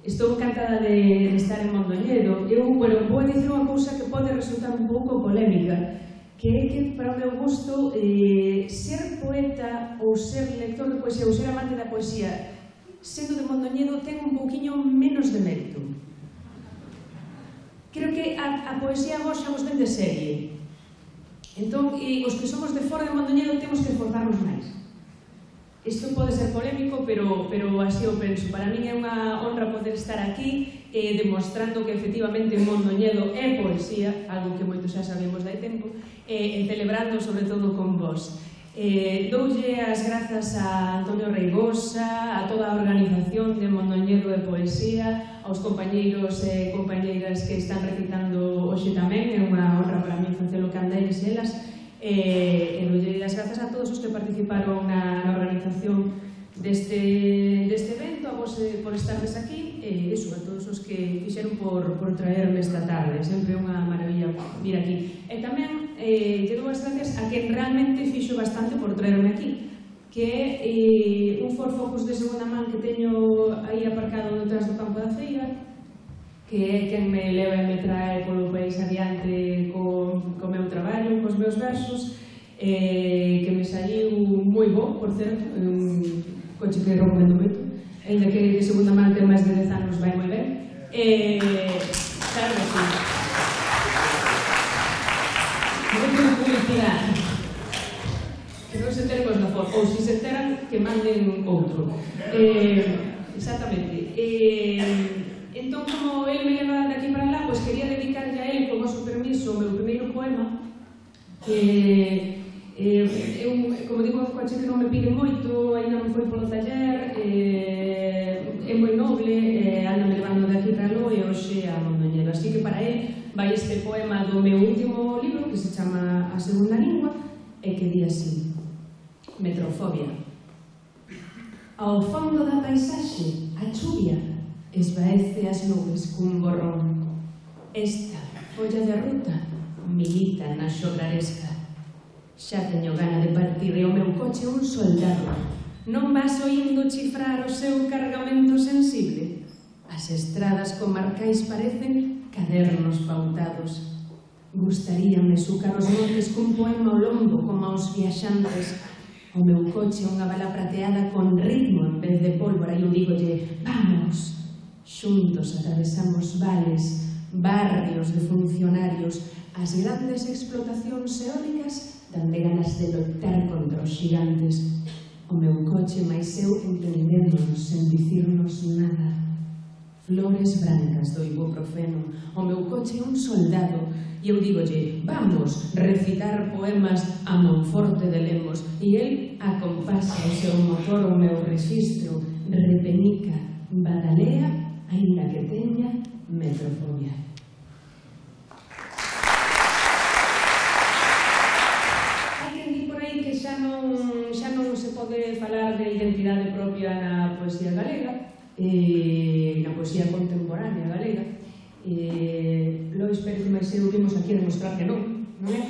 estou encantada de estar en Mondoñedo. Eu, bueno, vou dicir unha cousa que pode resultar un pouco polémica, que é que, para o meu gusto, eh, ser poeta ou ser lector de poesía ou ser amante da poesía sendo de Mondoñedo ten un pouquiño menos de mérito. Creo que a, a poesía vos xa vos ven de serie. Entón, e os que somos de fora de Mondoñedo temos que esforzarnos máis. Isto pode ser polémico, pero, pero así o penso. Para min é unha honra poder estar aquí eh, demostrando que efectivamente Mondoñedo é poesía, algo que moitos xa sabemos dai tempo, e eh, celebrando sobre todo con vos. Eh, doulle as grazas a Antonio Reigosa, a toda a organización de Mondoñedo de Poesía, aos compañeiros e compañeiras que están recitando hoxe tamén, é unha honra para mí facelo que andeis elas, e, e doulle as grazas a todos os que participaron na, na organización deste, deste evento, a vos eh, por estardes aquí, e iso, a todos os que fixeron por, por traerme esta tarde, sempre unha maravilla vir aquí. E tamén eh, lle dou as gracias a quen realmente fixo bastante por traerme aquí, que é eh, un Ford Focus de segunda man que teño aí aparcado detrás do campo da feira, que é quen me leva e me trae polo país adiante co, co meu traballo, cos meus versos, eh, que me saiu moi bo, por certo, un coche que recomendo moito, ainda que de segunda man ten máis de dez anos vai moi ben. Eh, claro que sí. Moito de publicidade. Que non se enteren cos da Ford, ou se se enteran, que manden outro. Eh, exactamente. Eh, entón, como el me leva de aquí para lá, pois quería dedicarlle a él, con o seu permiso, o meu primeiro poema, que eh, eu, como digo, o coche que non me pide moito, ainda non foi polo taller, eh, é moi noble, eh, anda me levando de aquí para lo e hoxe a Mondoñedo. Así que para él vai este poema do meu último libro, que se chama A Segunda Lingua, e que di así: Metrofobia. Ao fondo da paisaxe, a chuvia esvaece as nubes cun borrón. Esta folla de ruta milita na xobraresca. Xa teño gana de partir e o meu coche un soldado. Non vas oindo chifrar o seu cargamento sensible? As estradas comarcais parecen cadernos pautados. Gustaríame sucar os montes cun poema ao lombo como aos viaxantes. O meu coche unha bala prateada con ritmo en vez de pólvora e eu digolle: vamos! Xuntos atravesamos vales, barrios de funcionarios, as grandes explotacións eólicas dan de ganas de lotar contra os gigantes. O meu coche máis eu entendémonos sen dicirnos nada. Flores brancas do ibuprofeno. O meu coche é un soldado e eu digolle: vamos, recitar poemas a Monforte de Lemos. E el acompasa o seu motor o meu rexistro, repenica, badalea, aínda que teña metrofobia. Hai quen di por aí que xa non, xa non se pode falar de identidade propia na poesía galega, eh, na poesía contemporánea galega. Eh, Lois Pérez máis eu vimos aquí a demostrar que non, non é?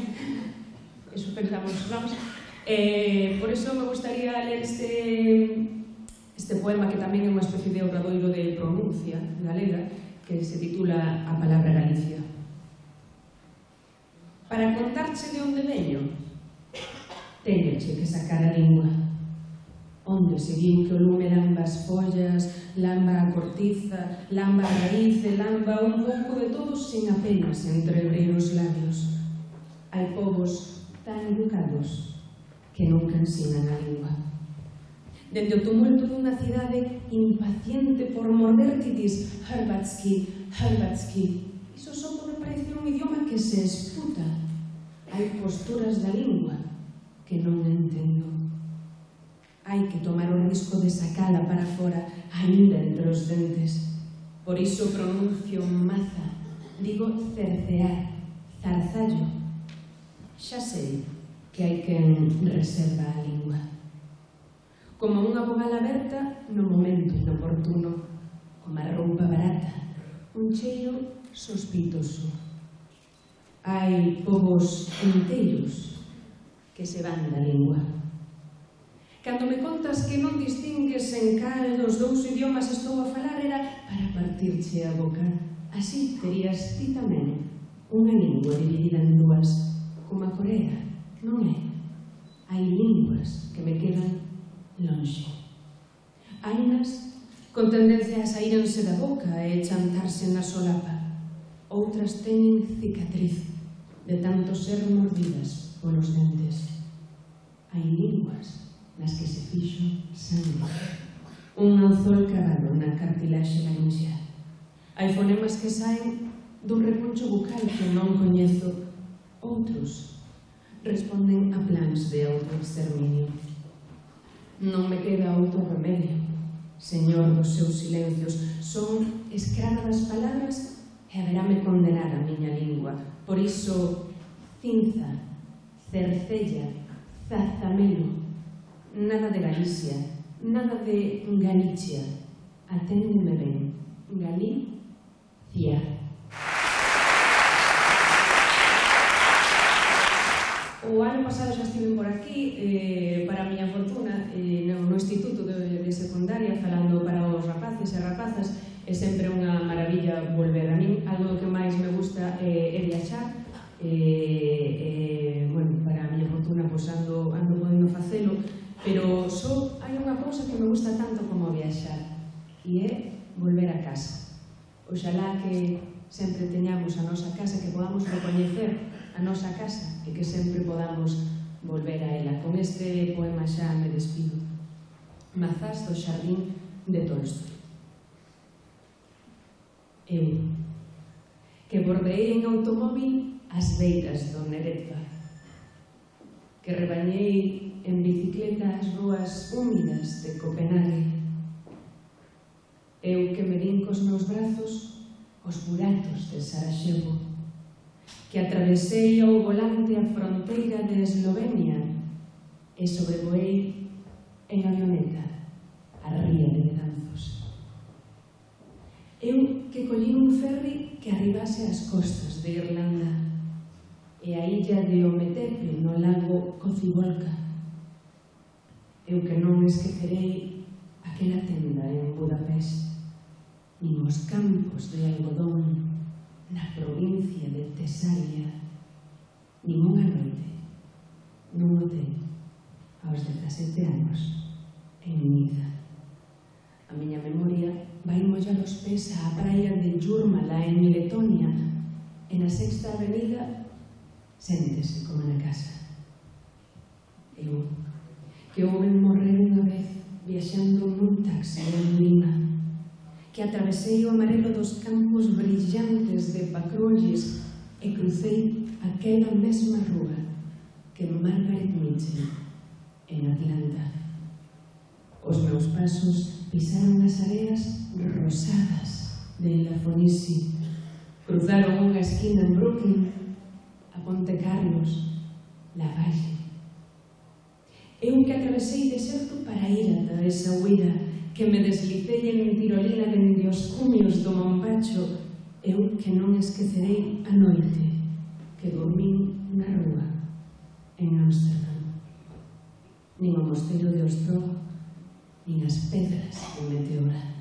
Eso pensamos nós. Eh, por eso me gustaría ler este, este poema que tamén é unha especie de obradoiro de pronuncia galega que se titula A palabra Galicia. Para contarche de onde veño, teñoche que sacar a lingua. Onde se vin que o lume lamba as follas, lamba a cortiza, lamba a raíz e lamba un pouco de todos sen apenas entreabrir os labios. Hai povos tan educados que nunca ensinan a lingua. Dende o tumulto dunha cidade impaciente por morder que dis Hrvatski, Hrvatski, iso só pode parecer un idioma que se esputa. Hai posturas da lingua que non entendo. Hai que tomar o risco de sacala para fora, aínda entre os dentes. Por iso pronuncio maza, digo cercear, zarzallo. Xa sei que hai quen reserva a lingua. Como unha vogal aberta no momento inoportuno, como a roupa barata, un cheiro sospitoso. Hai povos inteiros que se van da lingua. Cando me contas que non distingues en cal dos dous idiomas estou a falar era para partirche a boca. Así terías ti tamén unha lingua dividida en dúas, como a Corea. Non é? Hai linguas que me quedan lonxe. Hainas con tendencia a saírense da boca e chantarse na solapa. Outras teñen cicatriz de tanto ser mordidas polos dentes. Hai linguas nas que se fixo sangue. Un anzol cravado na cartilaxe larinxea. Hai fonemas que saen dun repuncho bucal que non coñezo. Outros responden a plans de autoexterminio. Non me queda outro remedio, señor dos seus silencios. Son escrava das palabras e haberame condenar a miña lingua. Por iso, cinza, cercella, zarzamelo, nada de Galicia, nada de Galicia. Aténdeme ben, Galicia. O ano pasado xa estive por aquí, eh, para a miña fortuna, eh, no, no instituto de, de secundaria, falando para os rapaces e rapazas. É sempre unha maravilla volver. A min, algo que máis me gusta eh, é viaxar. Eh, eh, bueno, para a miña fortuna, pois ando, ando podendo facelo, pero só hai unha cousa que me gusta tanto como viaxar, e é volver a casa. Oxalá que sempre teñamos a nosa casa, que podamos recoñecer a nosa casa e que sempre podamos volver a ela. Con este poema xa me despido. Mazás do xardín de Tolstoi. Eu, que bordeei en automóvil as beiras do Neretva, que rebañei en bicicleta as ruas húmidas de Copenhague. Eu que me din cos meus brazos os buratos de Sarajevo, que atravesei ao volante a fronteira de Eslovenia e sobrevoei en avioneta a ría de Betanzos. Eu que collí un ferry que arribase ás costas de Irlanda e a illa de Ometepe no lago Kocibolka. Eu que non esquecerei aquela tenda en Budapest, nin os campos de algodón na provincia de Tesalia, nin unha noite nun hotel aos dezasete anos en Niza. A miña memoria vai mollar os pés á praia de Jurmala en Letonia e na Sexta Avenida séntese como na casa. Eu, que houben morrer unha vez viaxando nun taxi en Lima, que atravesei o amarelo dos campos brillantes de Pacrolles e crucei aquela mesma rúa que Margaret Mitchell en Atlanta. Os meus pasos pisaron as areas rosadas de La Fenice, cruzaron unha esquina en Brooklyn, a Ponte Carlos, La Valle. Eu que atravesei deserto para ir ata esa huida, que me deslicei en tirolina dende os cumios do Mompacho, eu que non esquecerei a noite que dormín na rúa en Ámsterdam, nin o mosteiro de Ostrogo, nin as pedras en Meteora.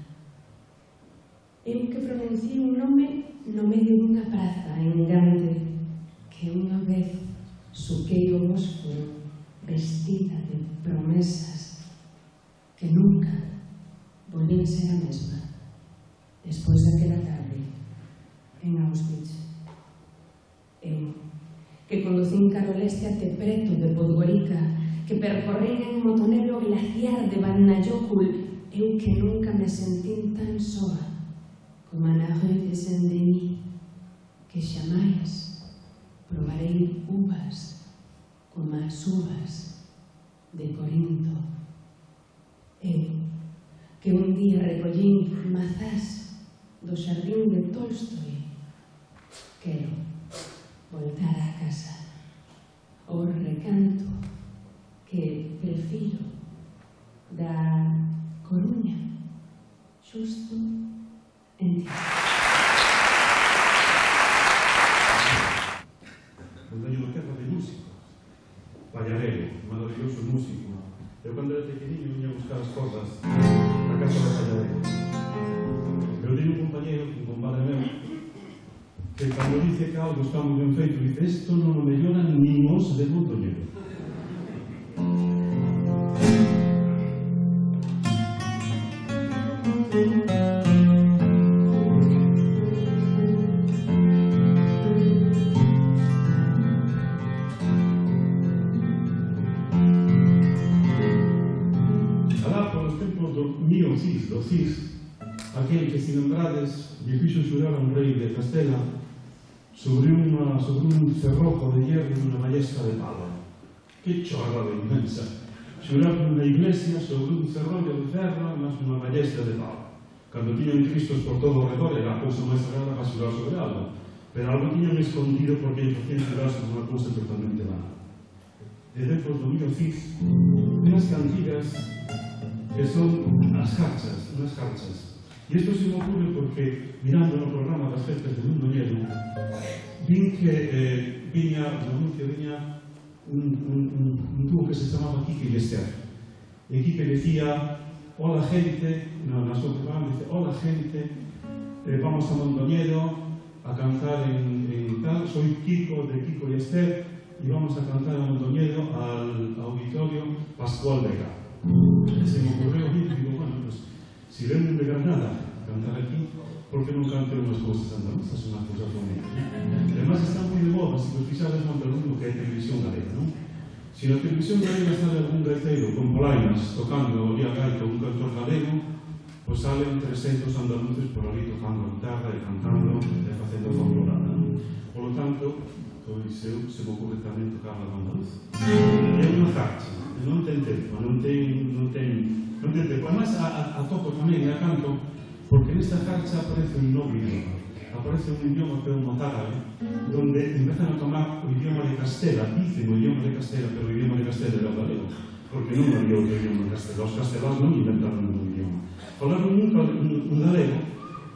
Eu que pronunciei un nome no medio dunha praza en Gante, que unha vez suquei o Bósforo vestida de promesas que nunca volvín ser a mesma despois daquela tarde en Auschwitz. Eu, que conducín cara ao leste até preto de Podgorica, que percorrín en motonero o glaciar de Vatnajökull, eu que nunca me sentín tan soa como na rue de Saint-Denis, que xamais probarei uvas como as uvas de Corinto. Eu, que un día recollín mazás do xardín de Tolstoi, quero voltar á casa, ao recanto que prefiro da Coruña, xusto en ti. Eu teño unha terra de músicos. Pallarelo, maravilloso músico. Eu, cando era pequeniño, viña a buscar as cordas na casa do Pallarelo. Eu teño un compañero, un compadre meu, que cando dice que algo está moi ben feito, dice: isto non o melloran nin os de Mondoñedo. Do Cis, aquel que, se lembrades, lle fixo xurar a un rei de Castela sobre, una, sobre un cerrojo de hierro e unha ballesta de pala. Que chorrada inmensa! Xurar nunha iglesia sobre un cerrollo de ferro mas unha ballesta de pala. Cando tiñan Cristos por todo o redor era a cousa máis sagrada para xurar sobre algo, pero algo tiñan escondido porque lle facían xurar sobre unha cousa totalmente vana. E depois do mío Cis, unhas cantigas que son as jarchas, unhas jarchas. E isto se me ocurre porque, mirando no programa das festas de Mondoñedo, vin que eh, viña, no anuncio viña un, un, un, un tubo que se chamaba Quique Yester. E Quique decía: hola gente, no, na súa programa dice: hola gente, eh, vamos a Mondoñedo a cantar en, en tal, soy Kiko de Kiko Yester e vamos a cantar a Mondoñedo al auditorio Pascual Vega. Se me ocurrió a mí, digo, bueno, pues si ven de Granada cantar aquí, ¿por qué non canten unhas cousas andaluzas, unhas cousas bonitas? Además, están moi de moda, se vos fixades non pelo mundo que hai televisión galega, non? Se na televisión galega sale algún gaiteiro con polainas tocando o día gaita un cantor galego, pois salen trescentos andaluces por ali tocando a guitarra e cantando e facendo folclorada, non? Por lo tanto, pois eu se me ocurre tamén tocar a andaluz. É unha jarcha. Non ten tempo, non ten, non ten, non ten tempo. Además, a, a, a toco tamén e a canto, porque nesta jarcha aparece un novo idioma. Aparece un idioma que é un mozárabe, donde empezan a tomar o idioma de Castela, dicen o idioma de Castela, pero o idioma de Castela era o galego, porque non había outro idioma de Castela. Os castelás non inventaron un idioma. Falaron un, un, un galego.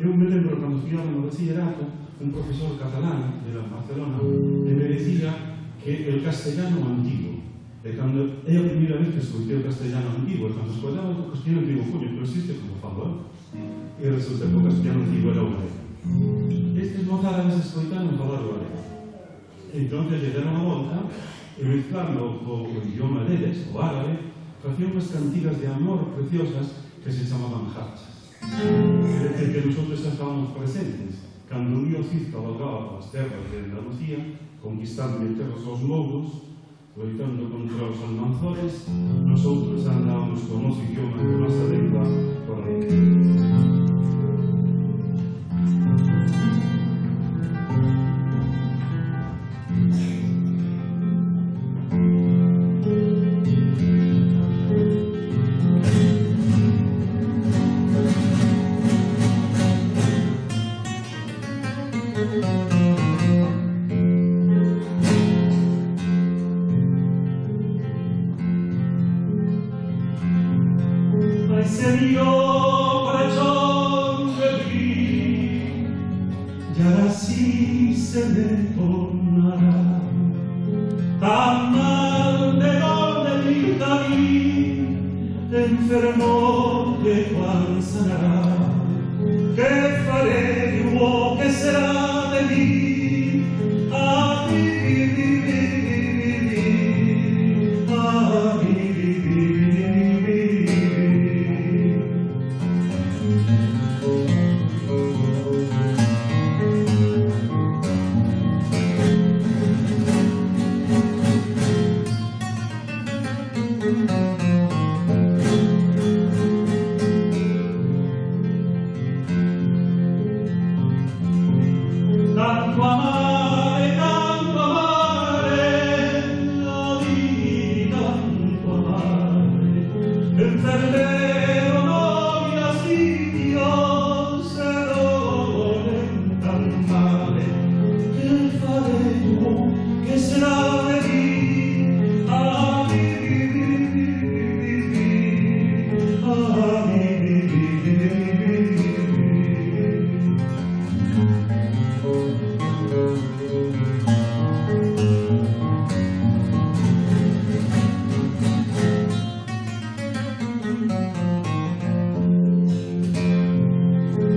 Eu me lembro, cando estudiaba no bachillerato, un profesor catalán de Barcelona me decía que el castellano antiguo. E cando é a primeira vez que escoitei o castellano antigo, e cando escoitaba o castellano antigo, coño, pero existe como falo, eh? E resulta que o castellano antigo era o galego. Estes mozárabes escoitaron falar o galego. Entón, lle deron a volta, e mezclando o, o idioma deles, o árabe, facían unhas cantigas de amor preciosas que se chamaban jarchas. É dicir, que nosotros estábamos presentes. Cando o río Cid cabalgaba as terras de Andalucía, conquistando en terras aos mouros, loitando contra os almanzores, nosotros andábamos con os idiomas de nosa lengua por aí. ahora sí se me tornará tan mal de donde mi David enfermo de cuál sanará. ¿Qué faré yo? ¿Qué será de mí? A mí, a mí. Tanto amare, tanto amare, la di tanto amare, enfermero no mi astidio, se dolen tan male. ¿Qué faré yo? ¿Qué será de mí? A mí, a mí.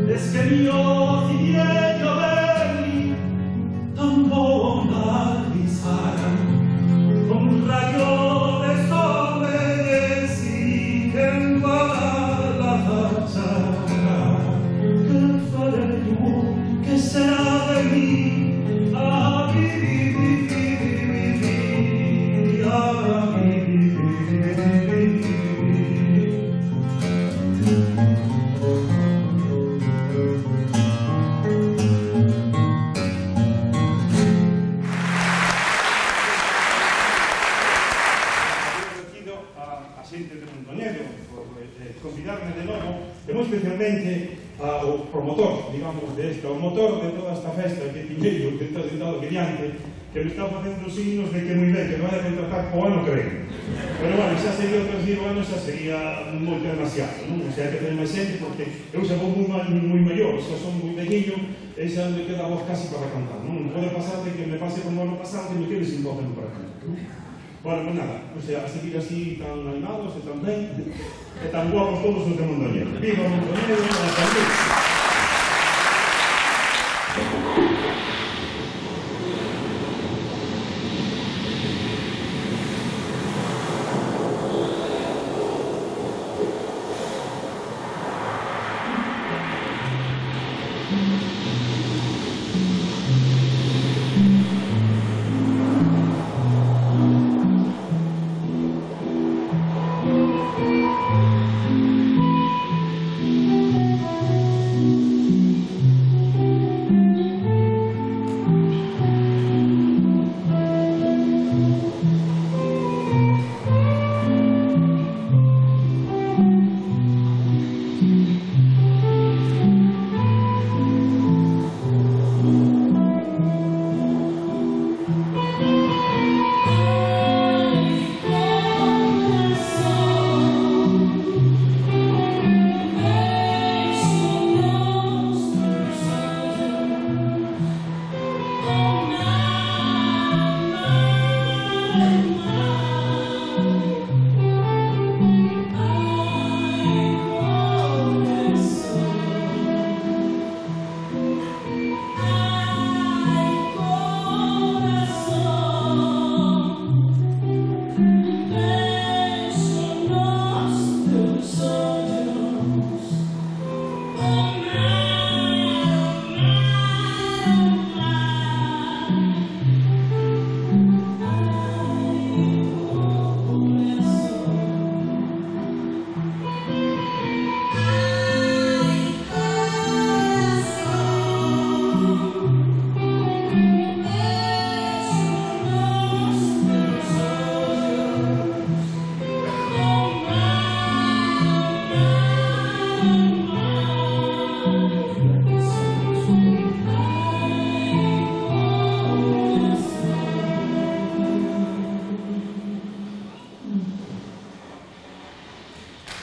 Es que yo quisiera llover tan bonda pisara con un rayo de sol me siguen para la fachada. ¿Qué faré yo? ¿Qué será de mí? A mí, a mí. Xente de Mondoñedo por eh, convidarme de novo e moi especialmente ao promotor, digamos, de esta, o motor de toda esta festa que tiñei o que está sentado aquí diante, que me está facendo signos de que moi ben, que non vai a contratar o ano que ven. Pero bueno, xa sería outros diez anos, xa sería moito demasiado, non? O sea, que tener máis xente, porque eu xa vou moi, moi maior, xa son moi velliño, e xa me queda a voz casi para cantar, non? Pode pasar de que me pase como ano pasado, que me quede sin voz para cantar, non? Bueno, pues nada, o sea, a seguir así tan animados e tan ben, e tan guapos todos os de Mondoñedo. Viva Mondoñedo, hasta luego.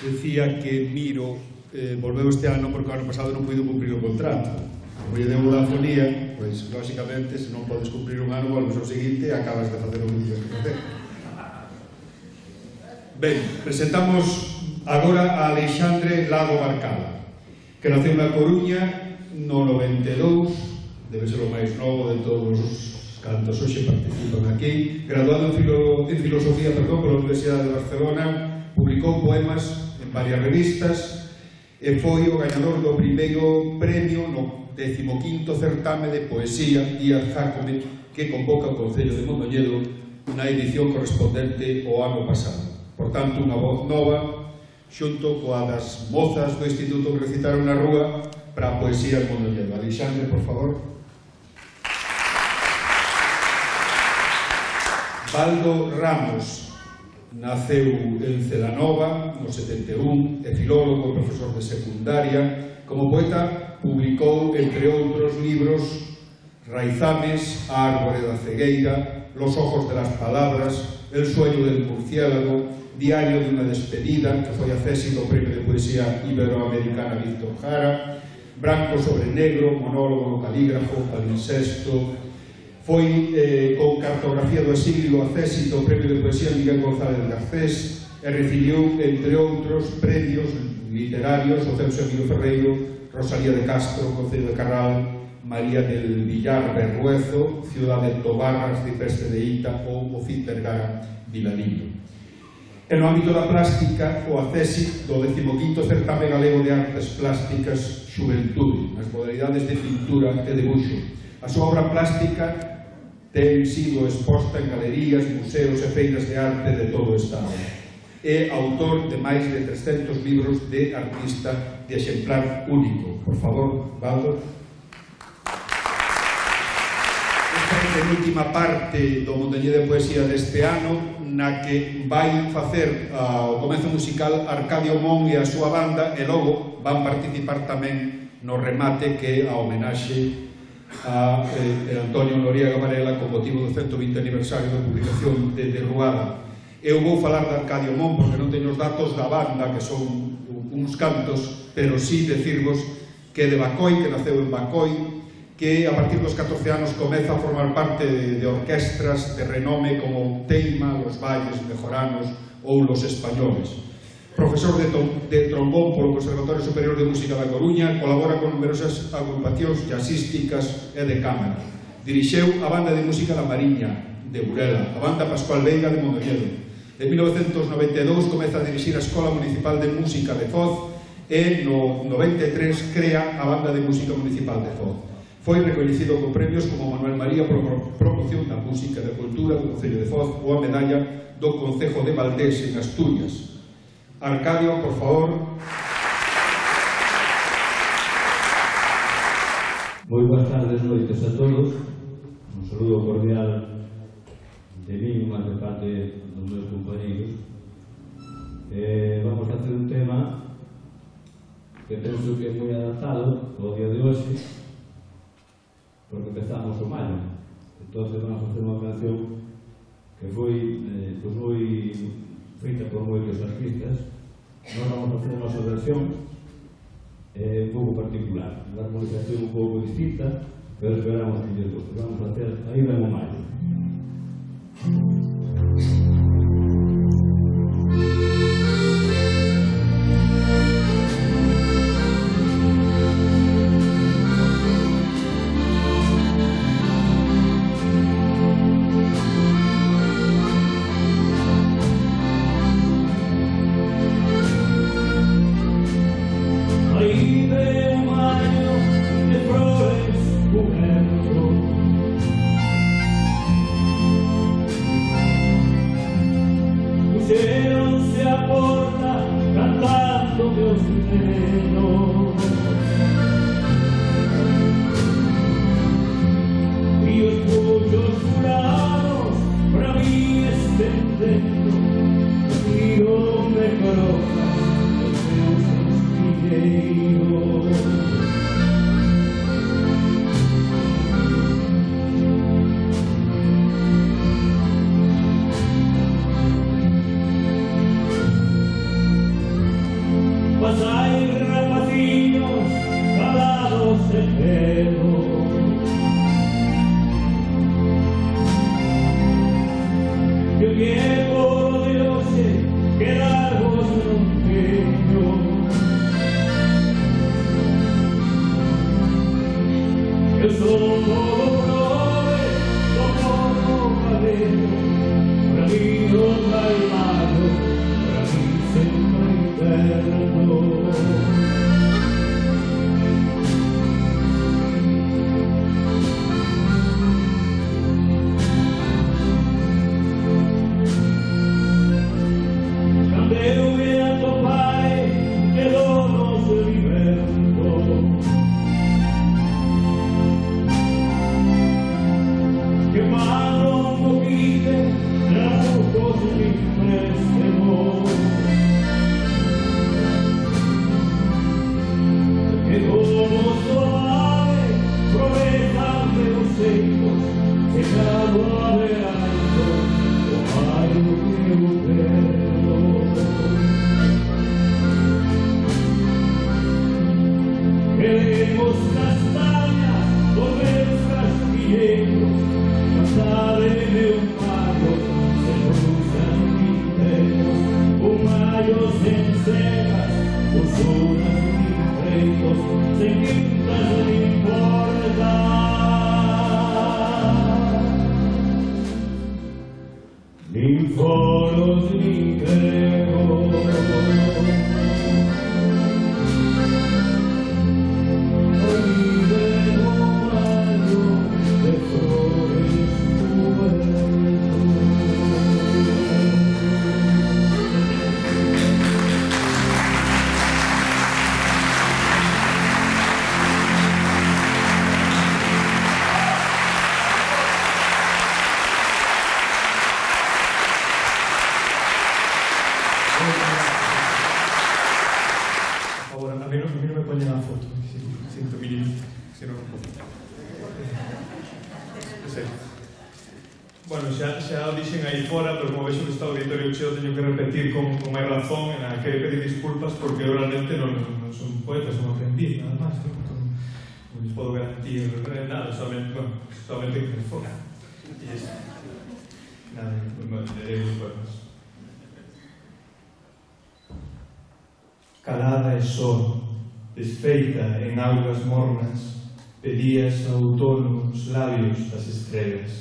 Decía que Miro eh, volveu este ano porque o ano pasado non puido cumprir o contrato. como lle deu a fonía, pois, lóxicamente, se non podes cumprir un ano, volves ao seguinte e acabas de facer o que tienes que facer. Ben, presentamos agora a Alexandre Lago Barcala, que naceu na Coruña no noventa e dous, debe ser o máis novo de todos os cantos hoxe participan aquí, graduado en, filo, en filosofía perdón, pola Universidade de Barcelona, publicou poemas en varias revistas e foi o gañador do primeiro premio no decimoquinto certame de poesía Díaz Jácome que convoca o Concello de Mondoñedo na edición correspondente ao ano pasado. Por tanto, unha voz nova xunto coa das mozas do instituto que recitaron na rúa para a poesía en Mondoñedo. Alexandre, por favor. Baldo Ramos naceu en Celanova no setenta e un, é filólogo e profesor de secundaria. Como poeta publicou, entre outros libros, Raizames, A árbore da cegueira, Los ojos de las palabras, El sueño del murciélago, Diario de una despedida, que foi accésil ao Premio de Poesía Iberoamericana Víctor Jara, Branco sobre negro, Monólogo no calígrafo, Palincesto. Foi eh, con Cartografía do exilio accésil ao Premio de Poesía Miguel González Garcés e recibiu, entre outros, premios literarios o Celso Emilio Ferreiro, Rosalía de Castro, Concello de Carral, María del Villar Berruezo, Ciudad de Tobarras, Cipeste de Ita ou o Cid Vergara Vilalino. E no ámbito da plástica, o accésit do decimoquinto certame galego de artes plásticas Xuventude, nas modalidades de pintura e debuxo. A súa obra plástica ten sido exposta en galerías, museos e feiras de arte de todo o Estado. É autor de máis de trescentos libros de artista de exemplar único. Por favor, Baldo. Esta é a última parte do Mondoñedo de Poesía deste ano, na que vai facer uh, o comezo musical Arcadio Mon e a súa banda, e logo van participar tamén no remate que é a homenaxe a eh, Antonio Noriega Varela con motivo do cento vinte aniversario da publicación de Derruada. Eu vou falar de Arcadio Mon porque non teño os datos da banda, que son uns cantos, pero sí decirvos que de Bacoi, que naceu en Bacoi, que a partir dos catorce anos comeza a formar parte de, de orquestras de renome como Teima, Los Valles, Mejoranos ou Los Españoles. Profesor de, de trombón polo Conservatorio Superior de Música da Coruña, colabora con numerosas agrupacións jazzísticas e de cámara. Dirixeu a Banda de Música da Mariña, de Burela, a Banda Pascual Veiga de Mondoñedo. En mil novecentos noventa e dous comeza a dirixir a Escola Municipal de Música de Foz e no noventa e tres crea a Banda de Música Municipal de Foz. Foi recoñecido con premios como Manuel María por promoción da música e da cultura do Concello de Foz ou a medalla do Concejo de Valdés en Asturias. Arcadio, por favor. Moi boas tardes, noites a todos. Un saludo cordial de mí, máis de parte dos meus compañeros. Eh, vamos a hacer un tema que penso que é moi adaptado ao día de hoxe, porque empezamos o maio. Entón, vamos a hacer unha canción que foi eh, pues moi feita por moitos artistas. Nós vamos a facer a nosa versión eh, un pouco particular, unha armonización un pouco distinta, pero esperamos que lles guste. Vamos a hacer aí ven o maio. símbolos ni creo. Bueno, xa, xa o dixen aí fora, pero como vexo que está o auditorio cheo, teño que repetir con, con máis razón, e que pedir disculpas porque eu realmente non, non son poeta, son aprendiz, nada máis, non, non, non les podo garantir nada, solamente, bueno, solamente que me fora. E eso. Nada, non lerei os poemas. Calada e só, desfeita en augas mornas, pedías ao outono os labios das estrelas.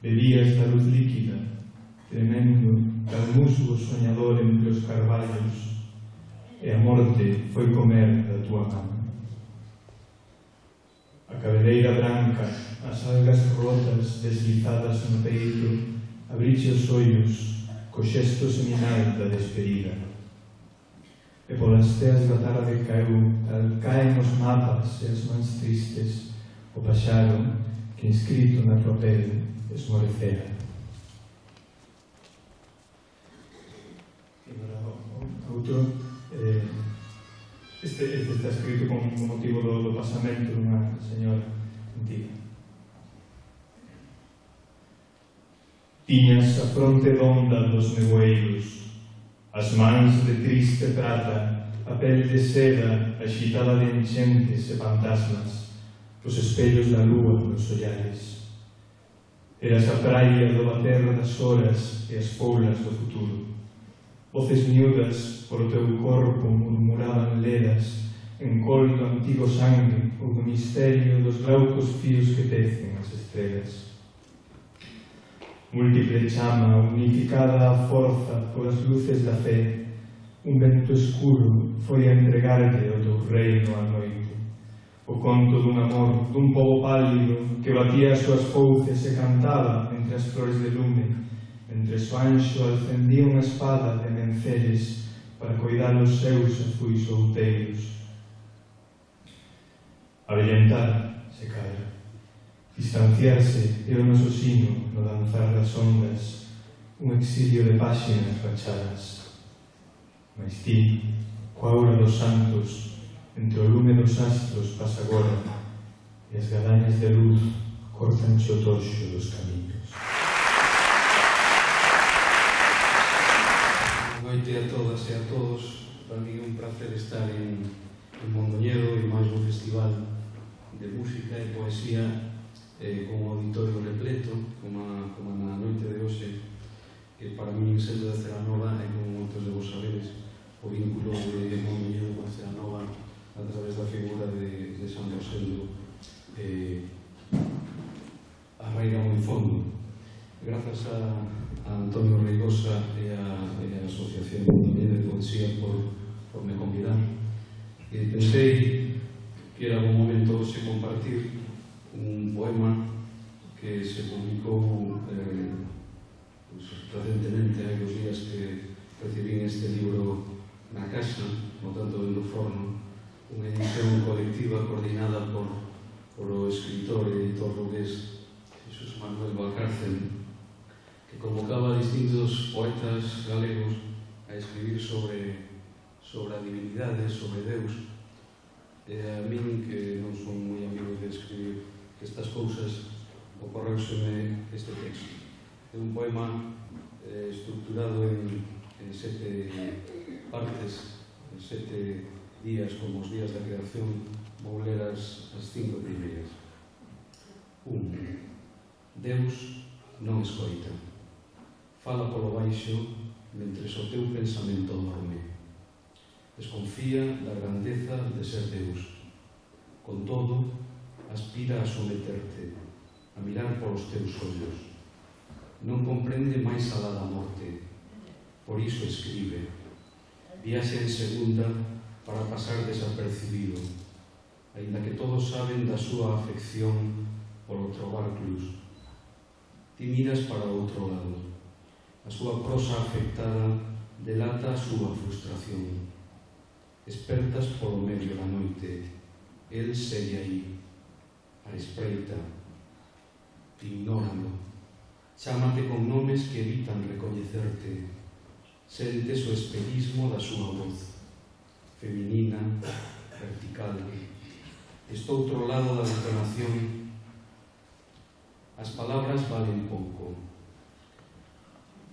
Bebías da luz líquida, tremendo, cal musgo soñador entre os carballos, e a morte foi comer da tua mano. A cabeleira branca, as algas rotas deslizadas no peito, abriche os ollos, co xesto seminal da despedida. E polas teas da tarde caeu, tal caen os mapas e as mans tristes, o paxaro que inscrito na tua pele esmorecera. E agora outro, eh, este, este está escrito con, con motivo do, do pasamento dunha señora antiga. Tiñas a fronte donda dos nevoeiros, as mans de triste prata, a pel de seda axitada de enchentes e fantasmas, os espellos da lúa nos ollares. Eras a praia do bater das horas e as poulas do futuro. Voces miúdas por o teu corpo murmuraban leras, en col do antigo sangue, o misterio dos glaucos fios que tecen as estrelas. Múltiple chama, unificada a forza polas luces da fe, un vento escuro foi a entregarte o teu reino á noite. O conto dun amor, dun pobo pálido que batía as súas fouces e cantaba entre as flores de lume, entre o anxo alcendía unha espada de menceres para coidar os seus azuis outeiros. Avellentar, se cala, distanciarse é o noso sino no danzar das ondas, un exilio de páxinas rachadas. Mais ti, coa aura dos santos, entre o lume dos astros pasa agora, e as gadañas de luz cortan o torxo dos camiños. Boa noite a todas e a todos. Para mí é un placer estar en, en Mondoñedo e máis un festival de música e poesía eh, con un auditorio repleto, como, a, como na noite de hoxe, que para mí, sendo de Celanova, e como moitos de vos sabedes, o vínculo de Mondoñedo con Celanova a través da figura de, de San Rosendo eh, arraiga moi fondo. Grazas a, a Antonio Reigosa e a, e a Asociación de Poesía por, por me convidar. E pensei que era un momento hoxe compartir un poema que se publicou eh, pues, recentemente, hai dos días que recibí este libro na casa, no tanto en no forno, unha edición colectiva coordinada por, por o escritor e editor lugués Jesús Manuel Valcárcel, que convocaba a distintos poetas galegos a escribir sobre, sobre a divinidade, sobre Deus. E a min, que non son moi amigo de escribir estas cousas, ocorreuseme este texto. É un poema eh, estructurado en, en sete partes, en sete días, como os días da creación, vou ler as, as cinco primeiras. Un. Deus non escoita. Fala polo baixo mentres o teu pensamento dorme. Desconfía da grandeza de ser Deus. Con todo, aspira a someterte, a mirar polos teus ollos. non comprende máis alá da morte. Por iso escribe. Viaxe en segunda para pasar desapercibido, aínda que todos saben da súa afección polo trobar clus. Ti miras para outro lado. A súa prosa afectada delata a súa frustración. Espertas polo medio da noite. El segue aí, a espreita. Ignóralo. Chámate con nomes que evitan recoñecerte. Sentes o espellismo da súa voz. Feminina, vertical. Estoutro lado da detonación. As palabras valen pouco.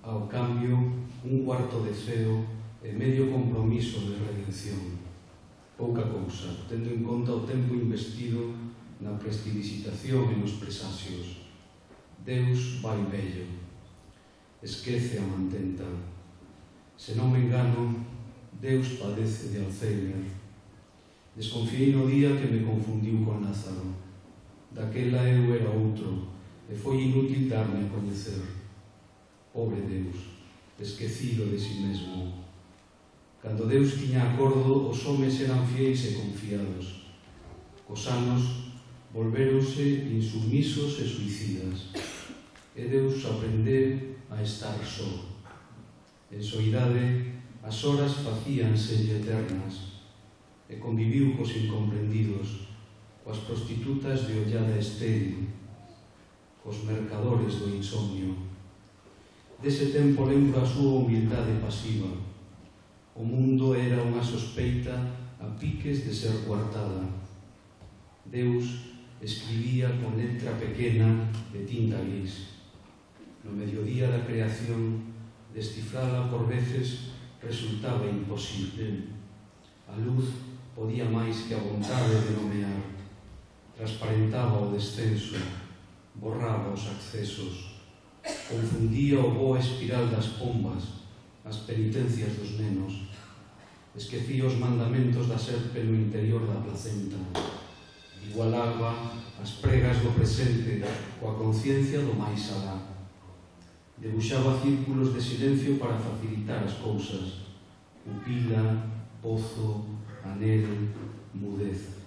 Ao cambio, un cuarto de ceo e medio compromiso de redención. Pouca cousa, tendo en conta o tempo investido na prestidigitación e nos presasios. Deus vai vello. Esquece a mantenta. Se non me engano, Deus padece de Alzheimer. Desconfiei no día que me confundiu con Lázaro. Daquela eu era outro, e foi inútil darme a coñecer. Pobre Deus, esquecido de si mesmo. Cando Deus tiña acordo, os homes eran fiéis e confiados. Cos anos, volvéronse insumisos e suicidas. E Deus aprendeu a estar só. En soidade, as horas facíanse eternas, e conviviu cos incomprendidos, coas prostitutas de ollada estéril, cos mercadores do insomnio. Dese tempo lembro a súa humildade pasiva. O mundo era unha sospeita a piques de ser coartada. Deus escribía con letra pequena de tinta gris. No mediodía da creación, descifrala por veces resultaba imposible. A luz podía máis que a vontade de nomear. Transparentaba o descenso, borraba os accesos. Confundía o boa espiral das pombas, as penitencias dos nenos. Esquecía os mandamentos da serpe no interior da placenta. Igualaba as pregas do presente coa conciencia do máis alá. Debuxaba círculos de silencio para facilitar as cousas. Pupila, pozo, anel, mudez.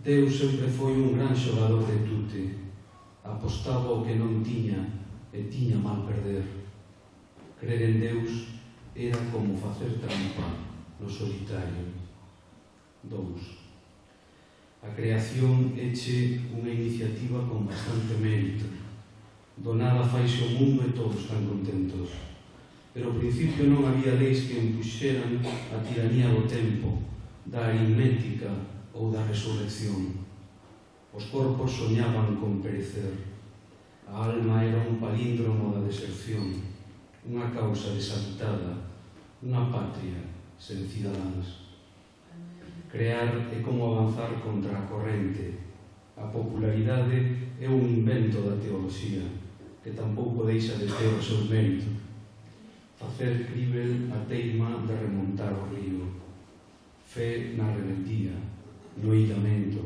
Deus sempre foi un gran xogador de tute. Apostaba o que non tiña e tiña mal perder. Crer en Deus era como facer trampa no solitario. Dous. A creación eche unha iniciativa con bastante mérito. Do nada faise o mundo e todos están contentos. Pero ao principio non había leis que impuxeran a tiranía do tempo, da aritmética ou da resurrección. Os corpos soñaban con perecer. A alma era un palíndromo da deserción, unha causa deshabitada, unha patria sen cidadáns. Crear é como avanzar contra a corrente. A popularidade é un invento da teoloxía, que tampouco deixa de ter o seu mérito. Facer crível a teima de remontar o río. Fe na rebeldía, no illamento.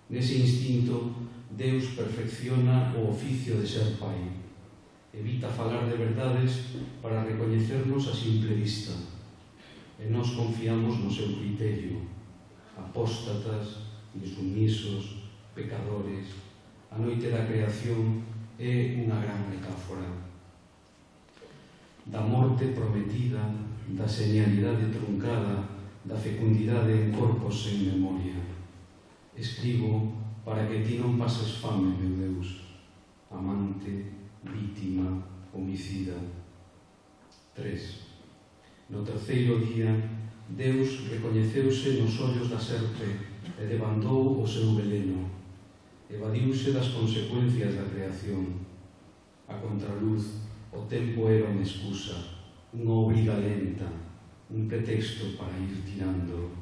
Nese instinto, Deus perfecciona o oficio de ser pai. Evita falar de verdades para recoñecernos a simple vista. E nós confiamos no seu criterio. Apóstatas, insumisos, pecadores. A noite da creación é unha gran metáfora. Da morte prometida, da señalidade truncada, da fecundidade en corpos sen memoria. Escribo para que ti non pases fame, meu Deus, amante, vítima, homicida. Tres. No terceiro día, Deus recoñeceuse nos ollos da serpe e levantou o seu veleno. Evadiuse das consecuencias da creación. A contraluz, o tempo era unha excusa, unha obriga lenta, un pretexto para ir tirando.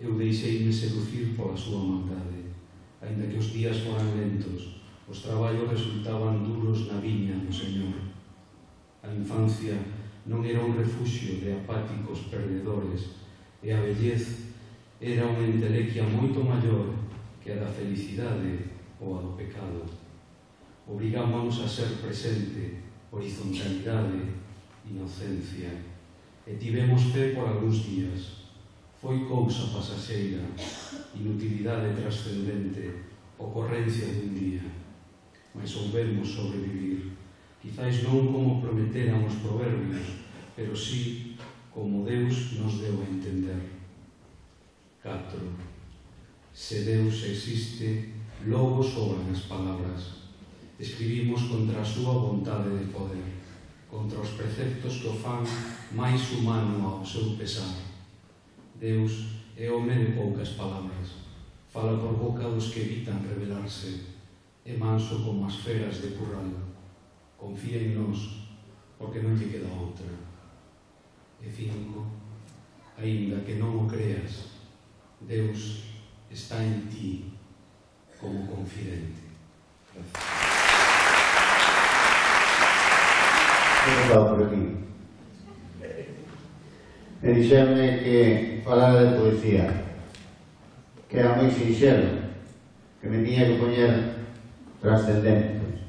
Eu deixeime seducir pola súa maldade. Ainda que os días foran lentos, os traballos resultaban duros na viña do Señor. A infancia non era un refuxio de apáticos perdedores e a vellez era unha entelequia moito maior que a da felicidade ou a do pecado. obrigámonos a ser presente, horizontalidade, inocencia, e tivemos fe por algúns días. Foi cousa pasaxeira, inutilidade trascendente, ocorrencia dun día, mas soubemos sobrevivir, quizais non como prometeran os proverbios, pero sí como Deus nos deu a entender. catro. Se Deus existe, logo sobran as palabras. Escribimos contra a súa vontade de poder, contra os preceptos que o fan máis humano ao seu pesar. Deus é home de poucas palabras, fala por boca dos que evitan revelarse, é manso como as feras de curral, confía en nós, porque non lle queda outra. E cinco, aínda que non o creas, Deus está en ti como confidente. Gracias. Vou falar por aquí. Me dixerme que falara de poesía, que era moi sinxelo, que me tiña que poñer trascendentes,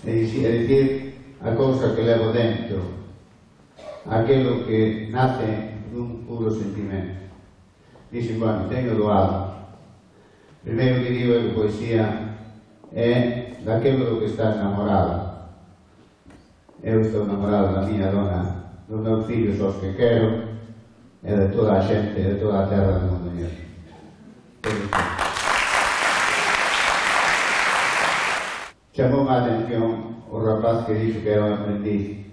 e dicir a cousa que levo dentro, aquilo que nace dun puro sentimento. Dixen, bueno, teño doado. Primeiro que digo é que poesía é daquilo do que estás namorado. Eu estou namorado da miña dona, dos meus fillos aos que quero, e de toda a xente, de toda a terra do Mondoñedo. Chamou a atención o rapaz que dixo que era un aprendiz.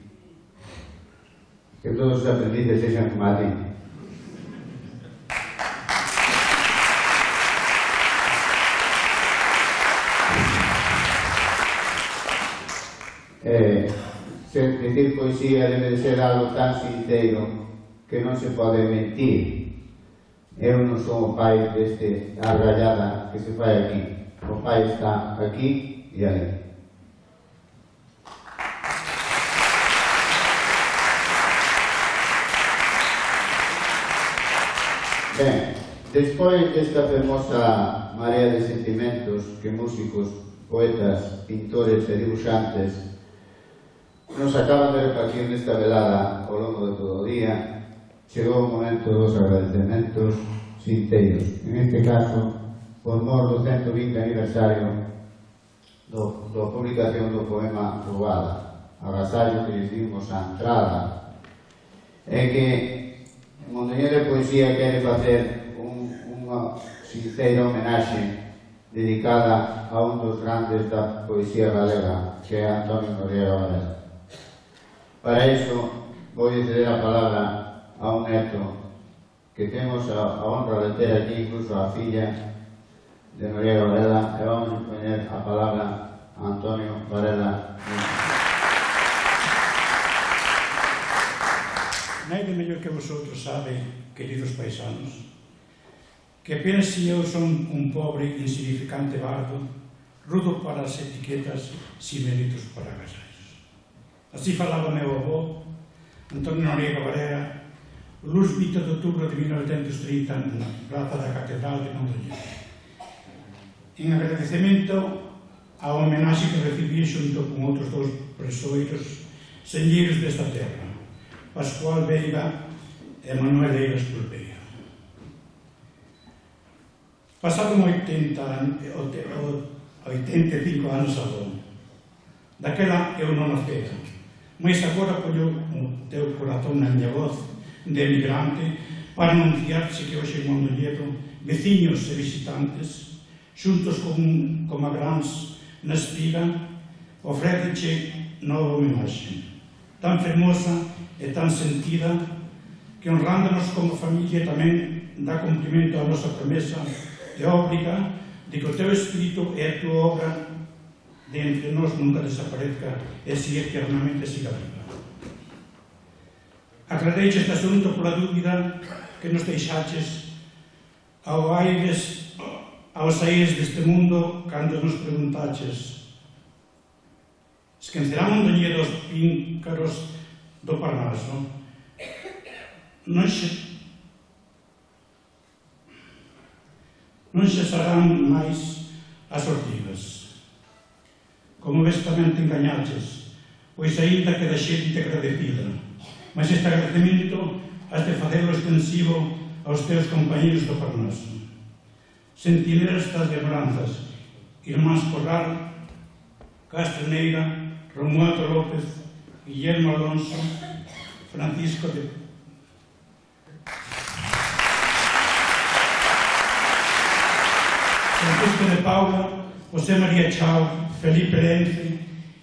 Que todos os aprendices sexan como a ti. Eh, se dicir poesía debe de ser algo tan sincero que non se pode mentir. Eu non sou o pai deste arrallada que se fai aquí. O pai está aquí e ali. Ben, despois desta fermosa marea de sentimentos que músicos, poetas, pintores e dibuixantes nos acaban de repartir nesta velada ao longo de todo o día, chegou o momento dos agradecementos sinteiros. En este caso, por mor do ciento vinte aniversario do, da publicación do poema Roubada, agasallo que lles dimos a entrada, é que Mondoñedo de Poesía quere facer un, unha sincera homenaxe dedicada a un dos grandes da poesía galega, que é Antonio Noriega Varela. Para iso, vou ceder a palabra a un neto que temos a, a honra de ter aquí, incluso a filla de Noriega Varela, e vamos a poñer a palabra a Antonio Varela. Naide mellor que vosotros sabe, queridos paisanos, que apenas si eu son un pobre, insignificante bardo, rudo para as etiquetas, sin méritos para agasallos. Así falaba meu avó, Antonio Noriega Varela, o luz vinte de outubro de mil novecentos trinta na praza da Catedral de Mondoñedo. En agradecemento á homenaxe que recibí xunto con outros dous presoiros señeiros desta terra, Pascual Veiga e Manuel Eiras Pulpeira. Pasaron oitenta e cinco anos aló. Daquela eu non nacera, mas agora poño o teu corazón na miña voz de emigrante para anunciarse que hoxe en Mondoñedo, veciños e visitantes, xuntos con, con magráns na espiga, ofréceche nova homenaxe, tan fermosa e tan sentida que honrándonos como familia tamén dá cumprimento á nosa promesa teórica de que o teu espírito e a tua obra de entre nós nunca desaparezca e si eternamente siga viva. Aclareiche este asunto pola dúbida que nos deixaches ao aires, aos aires deste mundo cando nos preguntaches: esquecerá Mondoñedo os píncaros do Parnaso? Non xe non xesarán máis as ortigas. como ves tamén te engañaches, pois aínda que da xente agradecida, mas este agradecimento has de facelo extensivo aos teus compañeros do Parnaso. Sentineras das lembranzas, Irmáns Corral, Castreneira, Romualdo López, Guillermo Alonso, Francisco de Francisco de Paula, José María Chao, Felipe Lence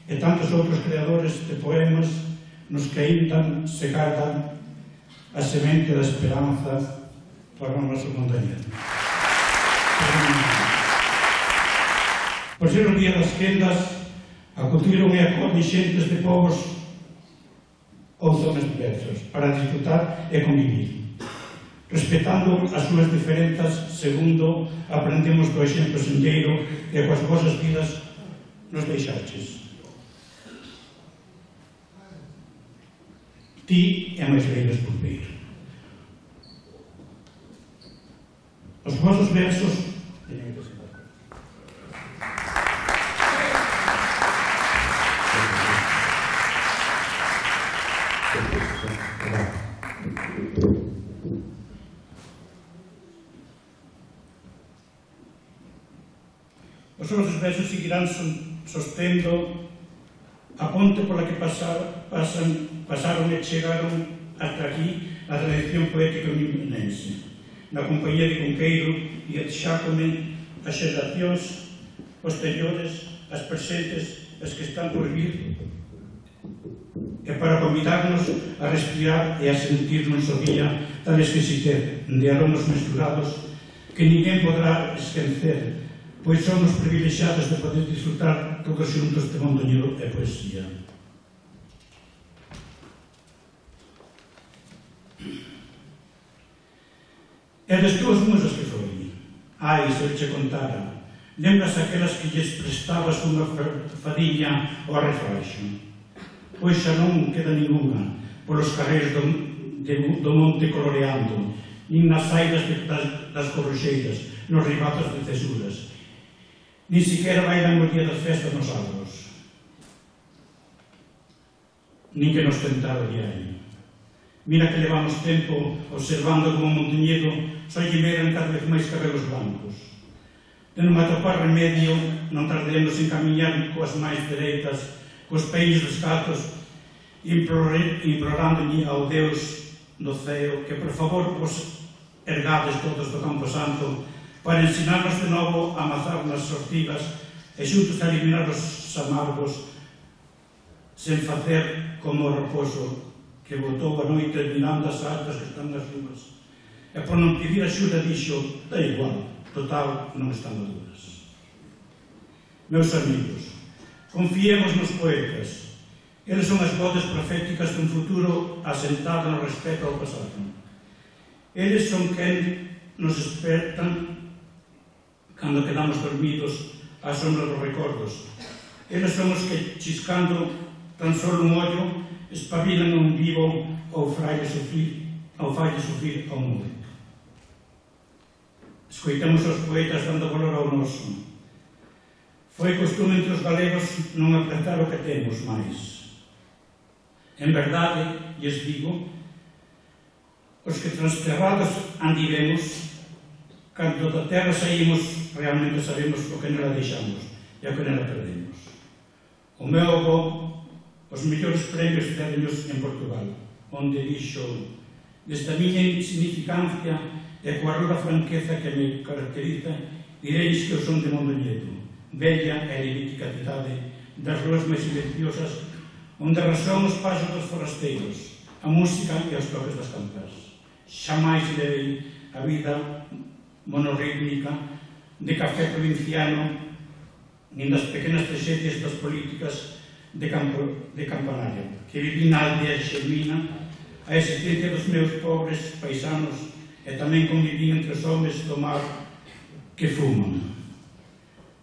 e tantos outros creadores de poemas nos que ainda se gardan a semente da esperanza para o noso montañedo. Por ser o día das quendas, acudiron e acorden xentes de povos ou zonas diversas para disfrutar e convivir, respetando as súas diferenzas segundo aprendemos do exemplo senlleiro que coas vosas vidas nos deixaches. Ti é máis leiras por peiro. Os vosos versos Os vosos versos seguirán sostendo a ponte pola que pasar, pasan, pasaron e chegaron ata aquí a tradición poética unimenense, na compañía de Cunqueiro e Xácome as xeracións posteriores, as presentes, as que están por vir, e para convidarnos a respirar e a sentirnos o día tal exquisitez de aromas mesturados que ninguén podrá esquecer, pois somos privilexiados de poder disfrutar todos xuntos de mondoñedo e poesía. E das túas musas que foi? Ai, se eu che contara, lembras aquelas que lles prestabas unha fadiña ao refraxo? Pois xa non queda ninguna polos carreiros do, de, do monte coloreando, nin nas saidas de, das, das corroxeiras, nos ribatos de cesuras. Ni siquiera bailan o día da festa nos álbos, nin que nos tentara o diario. Mira que levamos tempo observando como Mondoñedo só lle veran cada vez máis cabelos blancos. De non atopar remedio, non tardaremos en camiñar coas máis dereitas, cos peios descalzos, implorándolle ao Deus do ceo que por favor vos ergades todos do Campo Santo para ensinarnos de novo a amazar nas sortigas e xuntos a eliminar os amargos sen facer como o raposo que botou a noite mirando as altas que están nas rúas e por non pedir axuda dixo, da igual, total, non están maduras. Meus amigos, confiemos nos poetas. Eles son as voces proféticas dun futuro asentado no respeto ao pasado. Eles son quen nos despertan cando quedamos dormidos á sombra dos recordos. Eles son os que, chiscando tan solo un ollo, espabilan un vivo ao fraile sufrir, ao falle sufrir ao mundo. Escoitamos os poetas dando valor ao noso. Foi costume entre os galegos non apretar o que temos máis. En verdade, lles digo, os que transterrados andiremos, cando da terra saímos, realmente sabemos o que nela deixamos e o que nela perdemos. O meu avó, os mellores premios dereños en Portugal, onde dixo, desde a miña insignificancia e coa rura franqueza que me caracteriza, direis que eu son de Mondoñedo, bella e elíptica cidade das ruas máis silenciosas, onde razón os pasos dos forasteiros, a música e os toques das campas. Xamais levei a vida monorítmica de café provinciano nin das pequenas trexedias das políticas de, campo, de campanario que viví na aldea xermina a existencia dos meus pobres paisanos e tamén conviví entre os homes do mar que fuman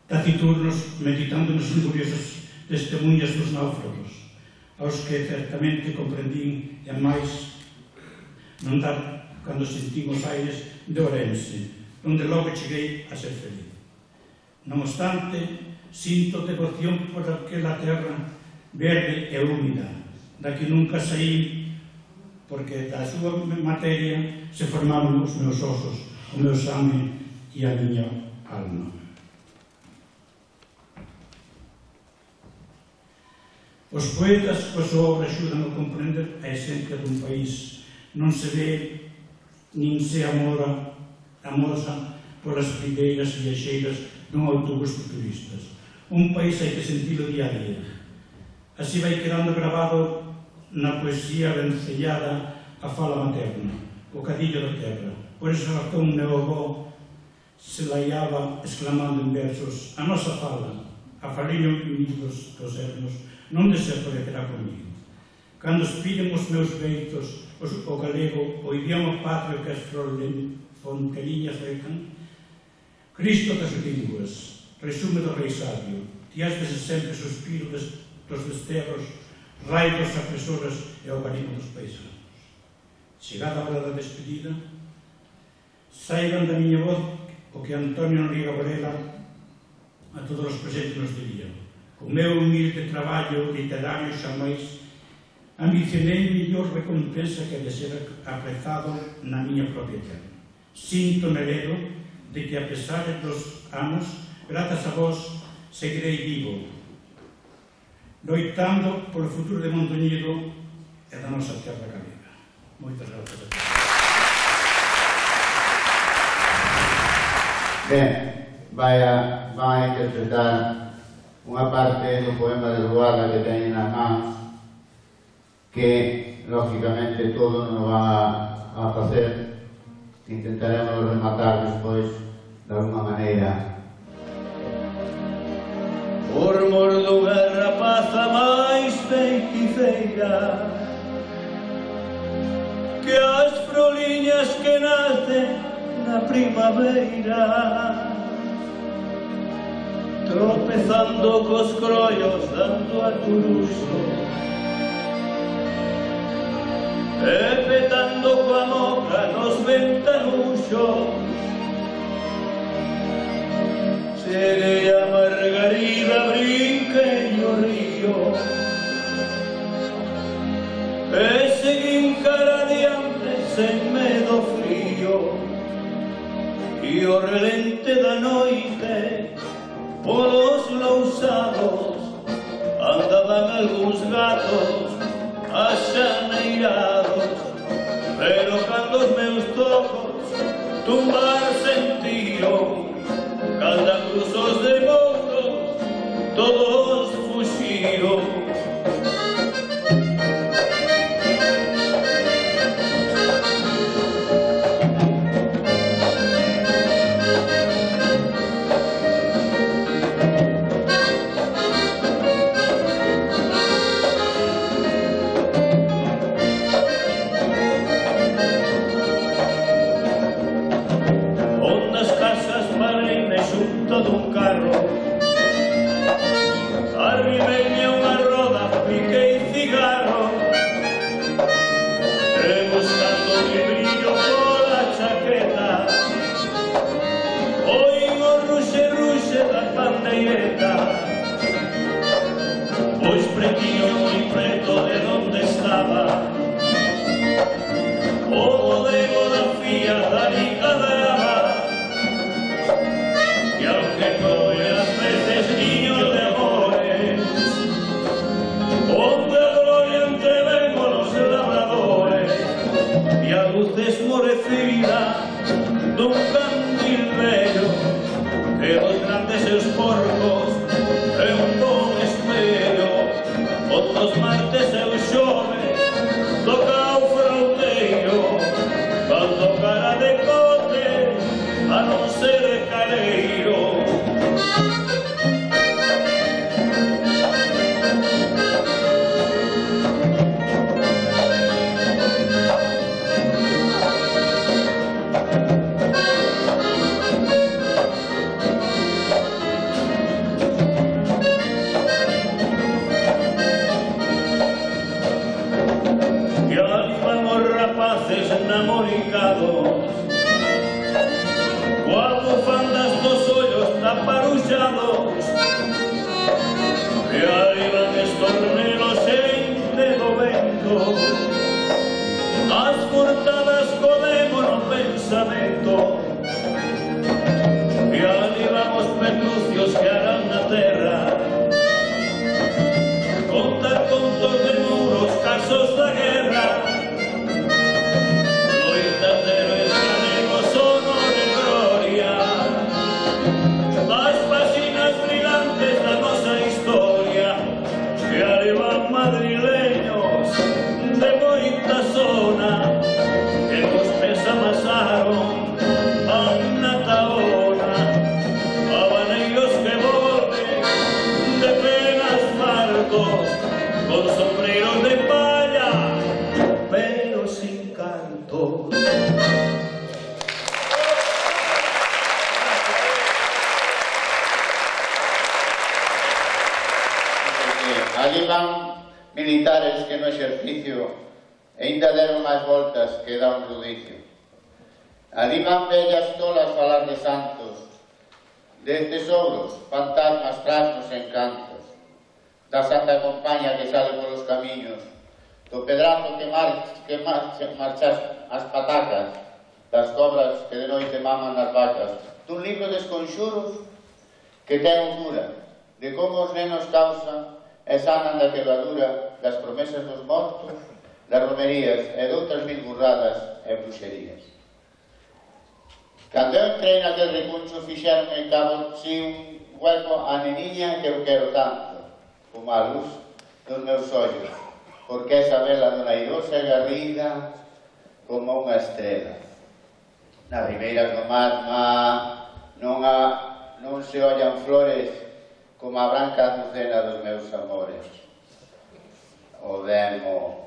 taciturnos meditando nos curiosas testemunhas dos náufragos aos que certamente comprendín e máis non dar cando sentín os aires de Ourense, onde logo cheguei a ser feliz. Non obstante, sinto devoción por aquela terra verde e húmida, da que nunca saí, porque da súa materia se formaron os meus osos, o meu sangue e a miña alma. Os poetas, coa súa obra, axudan a comprender a esencia dun país. Non se ve nin se amora, amosa polas primeiras viaxeiras dun autobús de turistas. Un país hai que sentilo día a día. Así vai quedando grabado na poesía vencellada a fala materna, o cadillo da terra. Por esa razón, meu avó se laiaba exclamando en versos: a nosa fala, a faliño unidos dos ermos, non desaparecerá comigo. Cando espillen os meus beitos o galego, o idioma patrio que as fonteliñas recan, Cristo das linguas, resume do rei sabio, ti has de sempre suspiro dos desterros, raio dos apresoras e o barimo dos paisanos. Chegada a hora da despedida, saiban da miña voz o que Antonio Noriega Varela a todos os presentes nos diría: o meu humilde traballo literario xamais ambicionei mellor recompensa que de ser aprezado na miña propia terra. Sinto medo de que, a pesar dos anos, grazas a vos, seguirei vivo, loitando polo futuro de Mondoñedo e da nosa terra galega. Moitas grazas a todos. Ben, vai a, vai a interpretar unha parte do poema de Luaga que teñen nas mans, que, lógicamente, todo non va a facer. Intentaremos rematar despois de alguma maneira. Por mor dunha rapaza máis feiticeira que as froliñas que nacen na primavera, tropezando cos croios dando a turuxo e petando coa moca nos ventanuxos. Cheguei a Margarida, brinquei o río e seguín cara adiante sen medo frío, e o relente da noite polos lousados andaban algúns gatos axaneirados, pero cando os meus tocos tumbar sentiron, canda cruzos de mouros todos fuxiron. Dun carro arrimei unha roda, piquei cigarro e buscando o librillo pola chaqueta oín o ruxe ruxe da pandeireta, pois pretiño moi preto de donde estaba o bodego da fía da liga da niño de amores, onde a gloria entrevemos los labradores, e a luz esmorecida dun candil vello que os grandes seus porcos é un bon espello. Outros martes e os xoves toca o fronteiro, cando cara de cote a non ser caleiro. Namoricados, coa bufandas dos ollos taparuxados, e ali van estornelos entre do vento, as furtadas comemos no pensamento, e ali van os petrucios que harán na terra, contar contos de muros, casos da guerra, loitas de héroes galegos, honor e gloria, as páxinas brillantes da nosa historia, que ali van madrileños de moita zona, que nos pés amasaron a Taona, habaneiros que volven de penas fartos, con sombreros de palla, pero sin canto. Ali van militares que no exercicio ainda deron máis voltas que dá un rudicio. Ali van bellas tolas falar de santos, de tesouros, fantasmas tras nos encantos, da Santa Compaña que sale polos camiños, do pedrazo que, mar, que marcha, marchas as patacas, das cobras que de noite maman nas vacas, dun libro de esconxuros que ten un cura, de como os nenos causan e sanan da quebradura das promesas dos mortos, das romerías e de outras mil burradas e bruxerías. Cando eu entrei naquel recuncho fixeron en cabo si un hueco a neniña que eu quero tanto, como a luz dos meus ollos, porque esa vela dona airosa e garrida como unha estrela. Nas ribeiras do mar non, a, non se ollan flores como a branca azucena dos meus amores. O demo,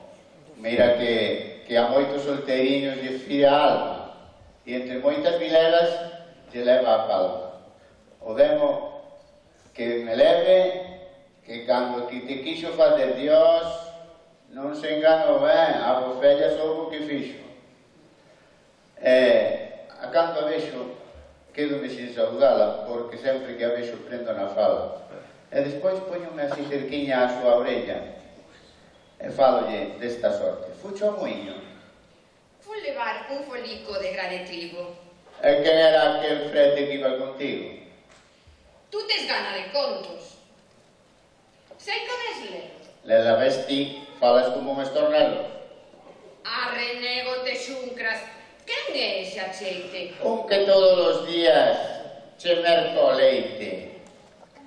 mira que, que a moitos solteiriños lle fira a alma, e entre moitas vilegas lle leva a palma. O demo que me leve, que cando que te quixo fazer Dios, non se enganou ben, a bofella soubo que fixo. E, a cando a vexo, quedo-me sin saudala, porque sempre que a vexo prendo na fala. E despois poñome así cerquiña a súa orella, e falolle desta sorte. Fucho ao muiño. Fun levar un folico de gra de trigo. E quen era aquel frete que iba contigo? Tú tes gana de contos. Sei que ves ler. Le la vesti, falas como un estornelo. A renego te xuncras. Quen é ese acheite? Un que todos os días che merco leite.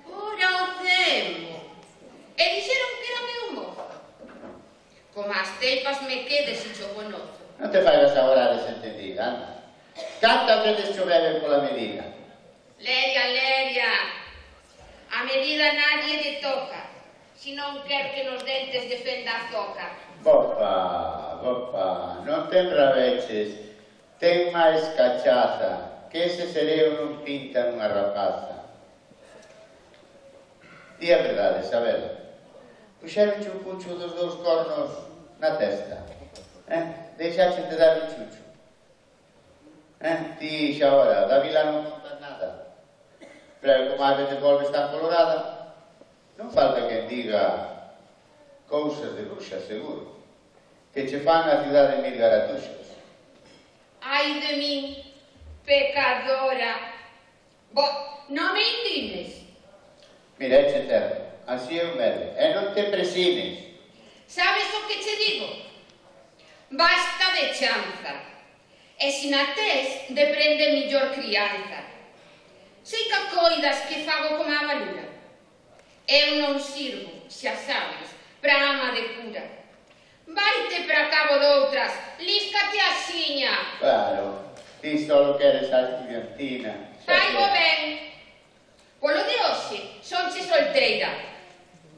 Ora o cemo. E dixeron que era meu mozo. Como as teipas me quedes e cho conozo. Non te faigas agora desentendida, anda. Cantas veces cho bebe pola medida? Leria, Leria. A medida nadie lle toca. Si non quer que nos dentes defenda a zoca. Bopa, bopa, non ten rabeches. Ten máis cachaza, que ese sereo non pinta nunha rapaza. Di a verdade, Isabel. Puxeron un pucho dos dous cornos na testa. Eh? Deixaxe de dar un chucho. Eh? Ti xa ora, da vila non contas nada. Pero como ás veces volves tan colorada, non falta quen diga cousas de bruxa, seguro, que che fan a cidade mil garatuxos. Ai de min, pecadora. Bo, non me indignes. Mira, eche terra, así é o medo, e non te presines. Sabes o que che digo? Basta de chanza. E se na tes, deprende millor crianza. Sei que coidas que fago como a valura. Eu non sirvo, xa sabes, pra ama de cura. Vaite para cabo doutras, líscate a xiña. Claro, ti solo queres a estudiantina. Faigo ben. Polo de hoxe, sonche solteira.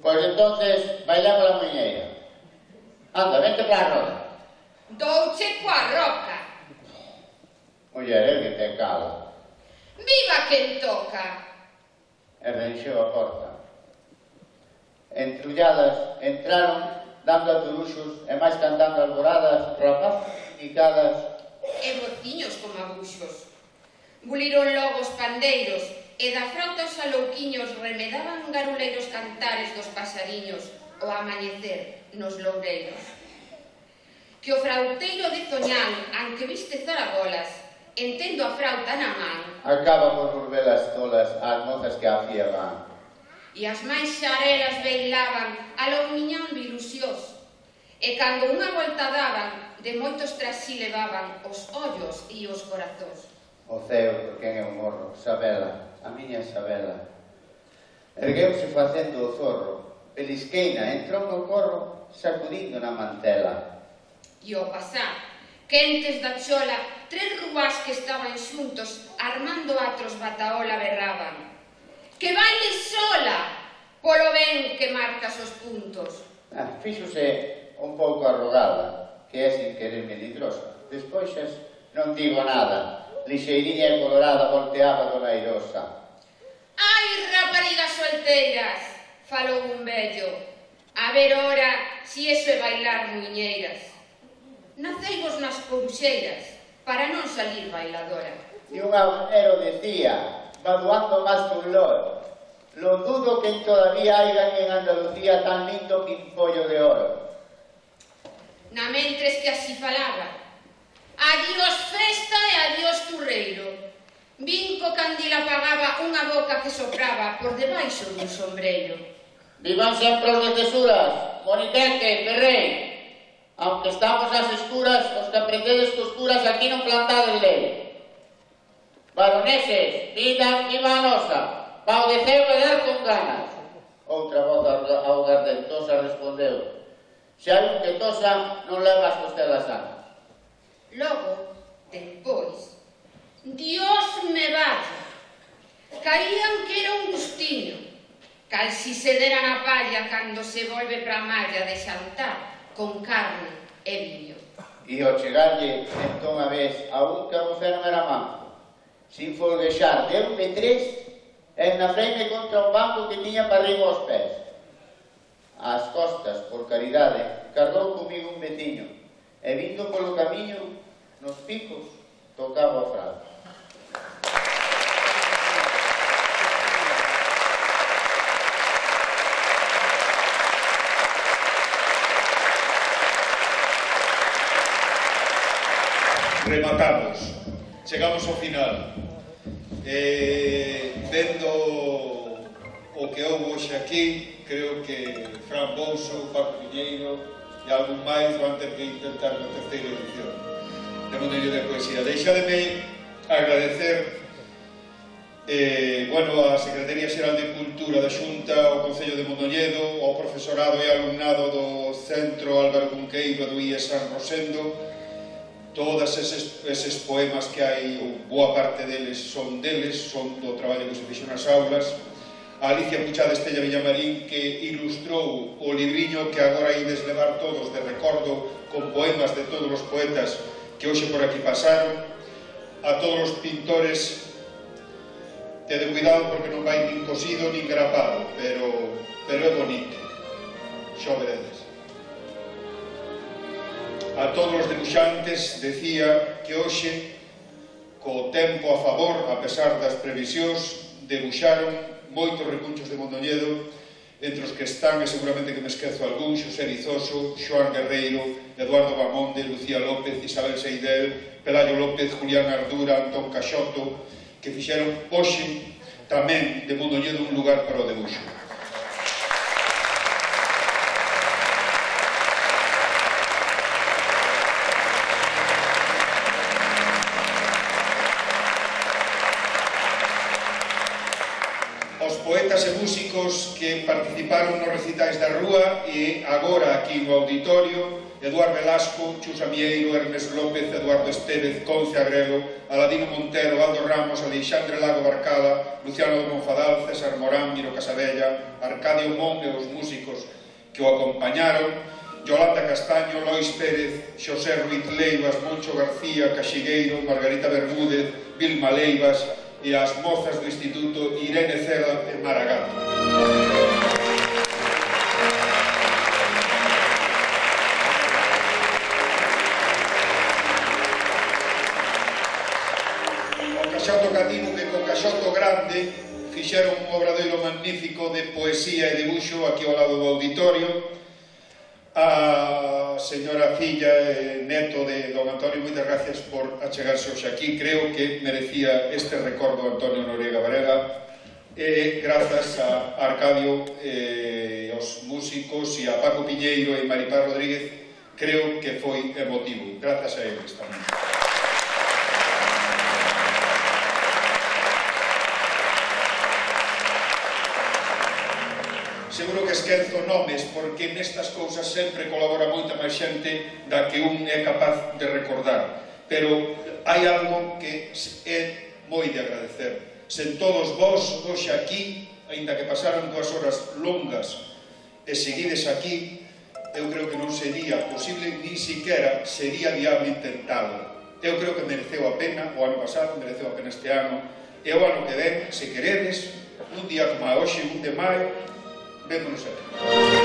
Pois entonces, bailamos a muñeira. Anda, vente para a roda. Douche coa roca. Muller, é que te cala. Viva quen toca. E renxeu a porta. Entrulladas, entraron dando a turuxos e máis cantando alboradas, rapazas indicadas. E bociños como abuxos. Buliron logo os pandeiros e da frauta os alouquiños remedaban garuleiros cantares dos pasariños ao amanecer nos loureiros. Que o frauteiro de Zoñán, anque viste zaragolas, entendo a frauta na man, acaba por volver as tolas ás mozas que a fía van. e as máis xarelas beilaban aloumiñando ilusiós, e cando unha volta daban, de moitos tras si levaban os ollos e os corazóns. O ceo, por quen é o morro, Sabela, a miña Sabela. Ergueuse facendo o zorro, pelisqueina, entrou no corro, sacudindo na mantela. E ao pasar, quentes da chola, tres ruás que estaban xuntos, armando atros bataola berraban: que baile sola, polo ben que marcas os puntos. Ah, fíxose un pouco arrogada, que é sin querer melindrosa. Despois non digo nada, lixeiriña e colorada volteaba dona Airosa. Ai, raparigas solteiras, falou un vello, a ver ora si eso é bailar muiñeiras. Naceivos nas coruxeiras, para non salir bailadora. E un agonero decía, vaduando máis que un loro, lo dudo que todavía haigan en Andalucía tan lindo pimpollo de oro. Na mentres que así falaba, adiós festa e adiós turreiro. Vinco candil apagaba unha boca que sopraba por debaixo dun sombreiro. Vivan sempre os de tesuras, Moniquete, Ferrey. Aunque estamos ás escuras, os que aprendedes costuras aquí non plantades lei. Baroneses, vida viva a nosa, pau de ceo e dar con ganas. Outra voz augardentosa respondeu: se hai un que tosa, non leva as costelas sanas. Logo, despois, Dios me vaya, caían que era un gustiño, cal si se dera na palla cando se volve pra malla de xantar con carne e viño. E ao chegarlle, entón a vez, a un que a vocero era manco, sin folguexar, deu-me tres, e na freime contra un banco que tiña para arriba aos pés. Ás costas, por caridade, cargou comigo un veciño, e vindo polo camiño, nos picos, tocaba o fraude. Rematamos, chegamos ao final. Eh, vendo o que houve hoxe aquí, creo que Fran Bouso, Paco Piñeiro e algún máis van ter que intentar na terceira edición de Mondonello de Poesía. Deixademe agradecer eh, bueno, a Secretaría Xeral de Cultura da Xunta, ao Concello de Mondoñedo, ao profesorado e alumnado do Centro Álvaro Cunqueiro do I E San Rosendo. Todos eses, eses poemas que hai, ou boa parte deles son deles, son do traballo que se fixo nas aulas. A Alicia Puchada Estella Villamarín, que ilustrou o libriño que agora ides levar todos de recordo con poemas de todos os poetas que hoxe por aquí pasaron. A todos os pintores, tede cuidado porque non vai nin cosido nin grapado, pero, pero é bonito, xa veredes. A todos os debuxantes decía que hoxe, co tempo a favor, a pesar das previsións, debuxaron moitos recunchos de Mondoñedo, entre os que están, e seguramente que me esquezo algún, Xosé Rizoso, Xoán Guerreiro, Eduardo Bamonde, Lucía López, Isabel Seidel, Pelayo López, Julián Ardura, Antón Caxoto, que fixeron hoxe tamén de Mondoñedo un lugar para o debuxo. Poetas e músicos que participaron nos recitais da Rúa e agora aquí no auditorio: Eduardo Velasco, Chus Amieiro, Ernest López, Eduardo Estevez, Conce Agrelo, Aladino Montero, Aldo Ramos, Alexandre Lago Barcala, Luciano de Monfadal, César Morán, Miro Casabella, Arcadio Mon e os músicos que o acompañaron, Yolanda Castaño, Lois Pérez, Xosé Ruiz Leivas, Moncho García, Caxigueiro, Margarita Bermúdez, Vilma Leivas e as mozas do Instituto Irene Cela e Maragato. O Caxoto Cativo, que co Caxoto Grande magnífico de poesía e dibuixo aquí ao lado do auditorio. A señora filla e neto de don Antonio, moitas gracias por achegarse hoxe aquí. Creo que merecía este recordo Antonio Noriega Varela, e grazas a Arcadio e aos músicos e a Paco Piñeiro e Maripaz Rodríguez, creo que foi emotivo. Grazas a eles tamén. Seguro que esquezo nomes, porque nestas cousas sempre colabora moita máis xente da que un é capaz de recordar. Pero hai algo que é moi de agradecer. Sen todos vós, hoxe aquí, aínda que pasaran dúas horas longas e seguides aquí, eu creo que non sería posible, ni siquiera sería viable intentado. Eu creo que mereceu a pena o ano pasado, mereceu a pena este ano, e o ano que ven, se queredes, un día como a hoxe, un de maio, vémonos aquí.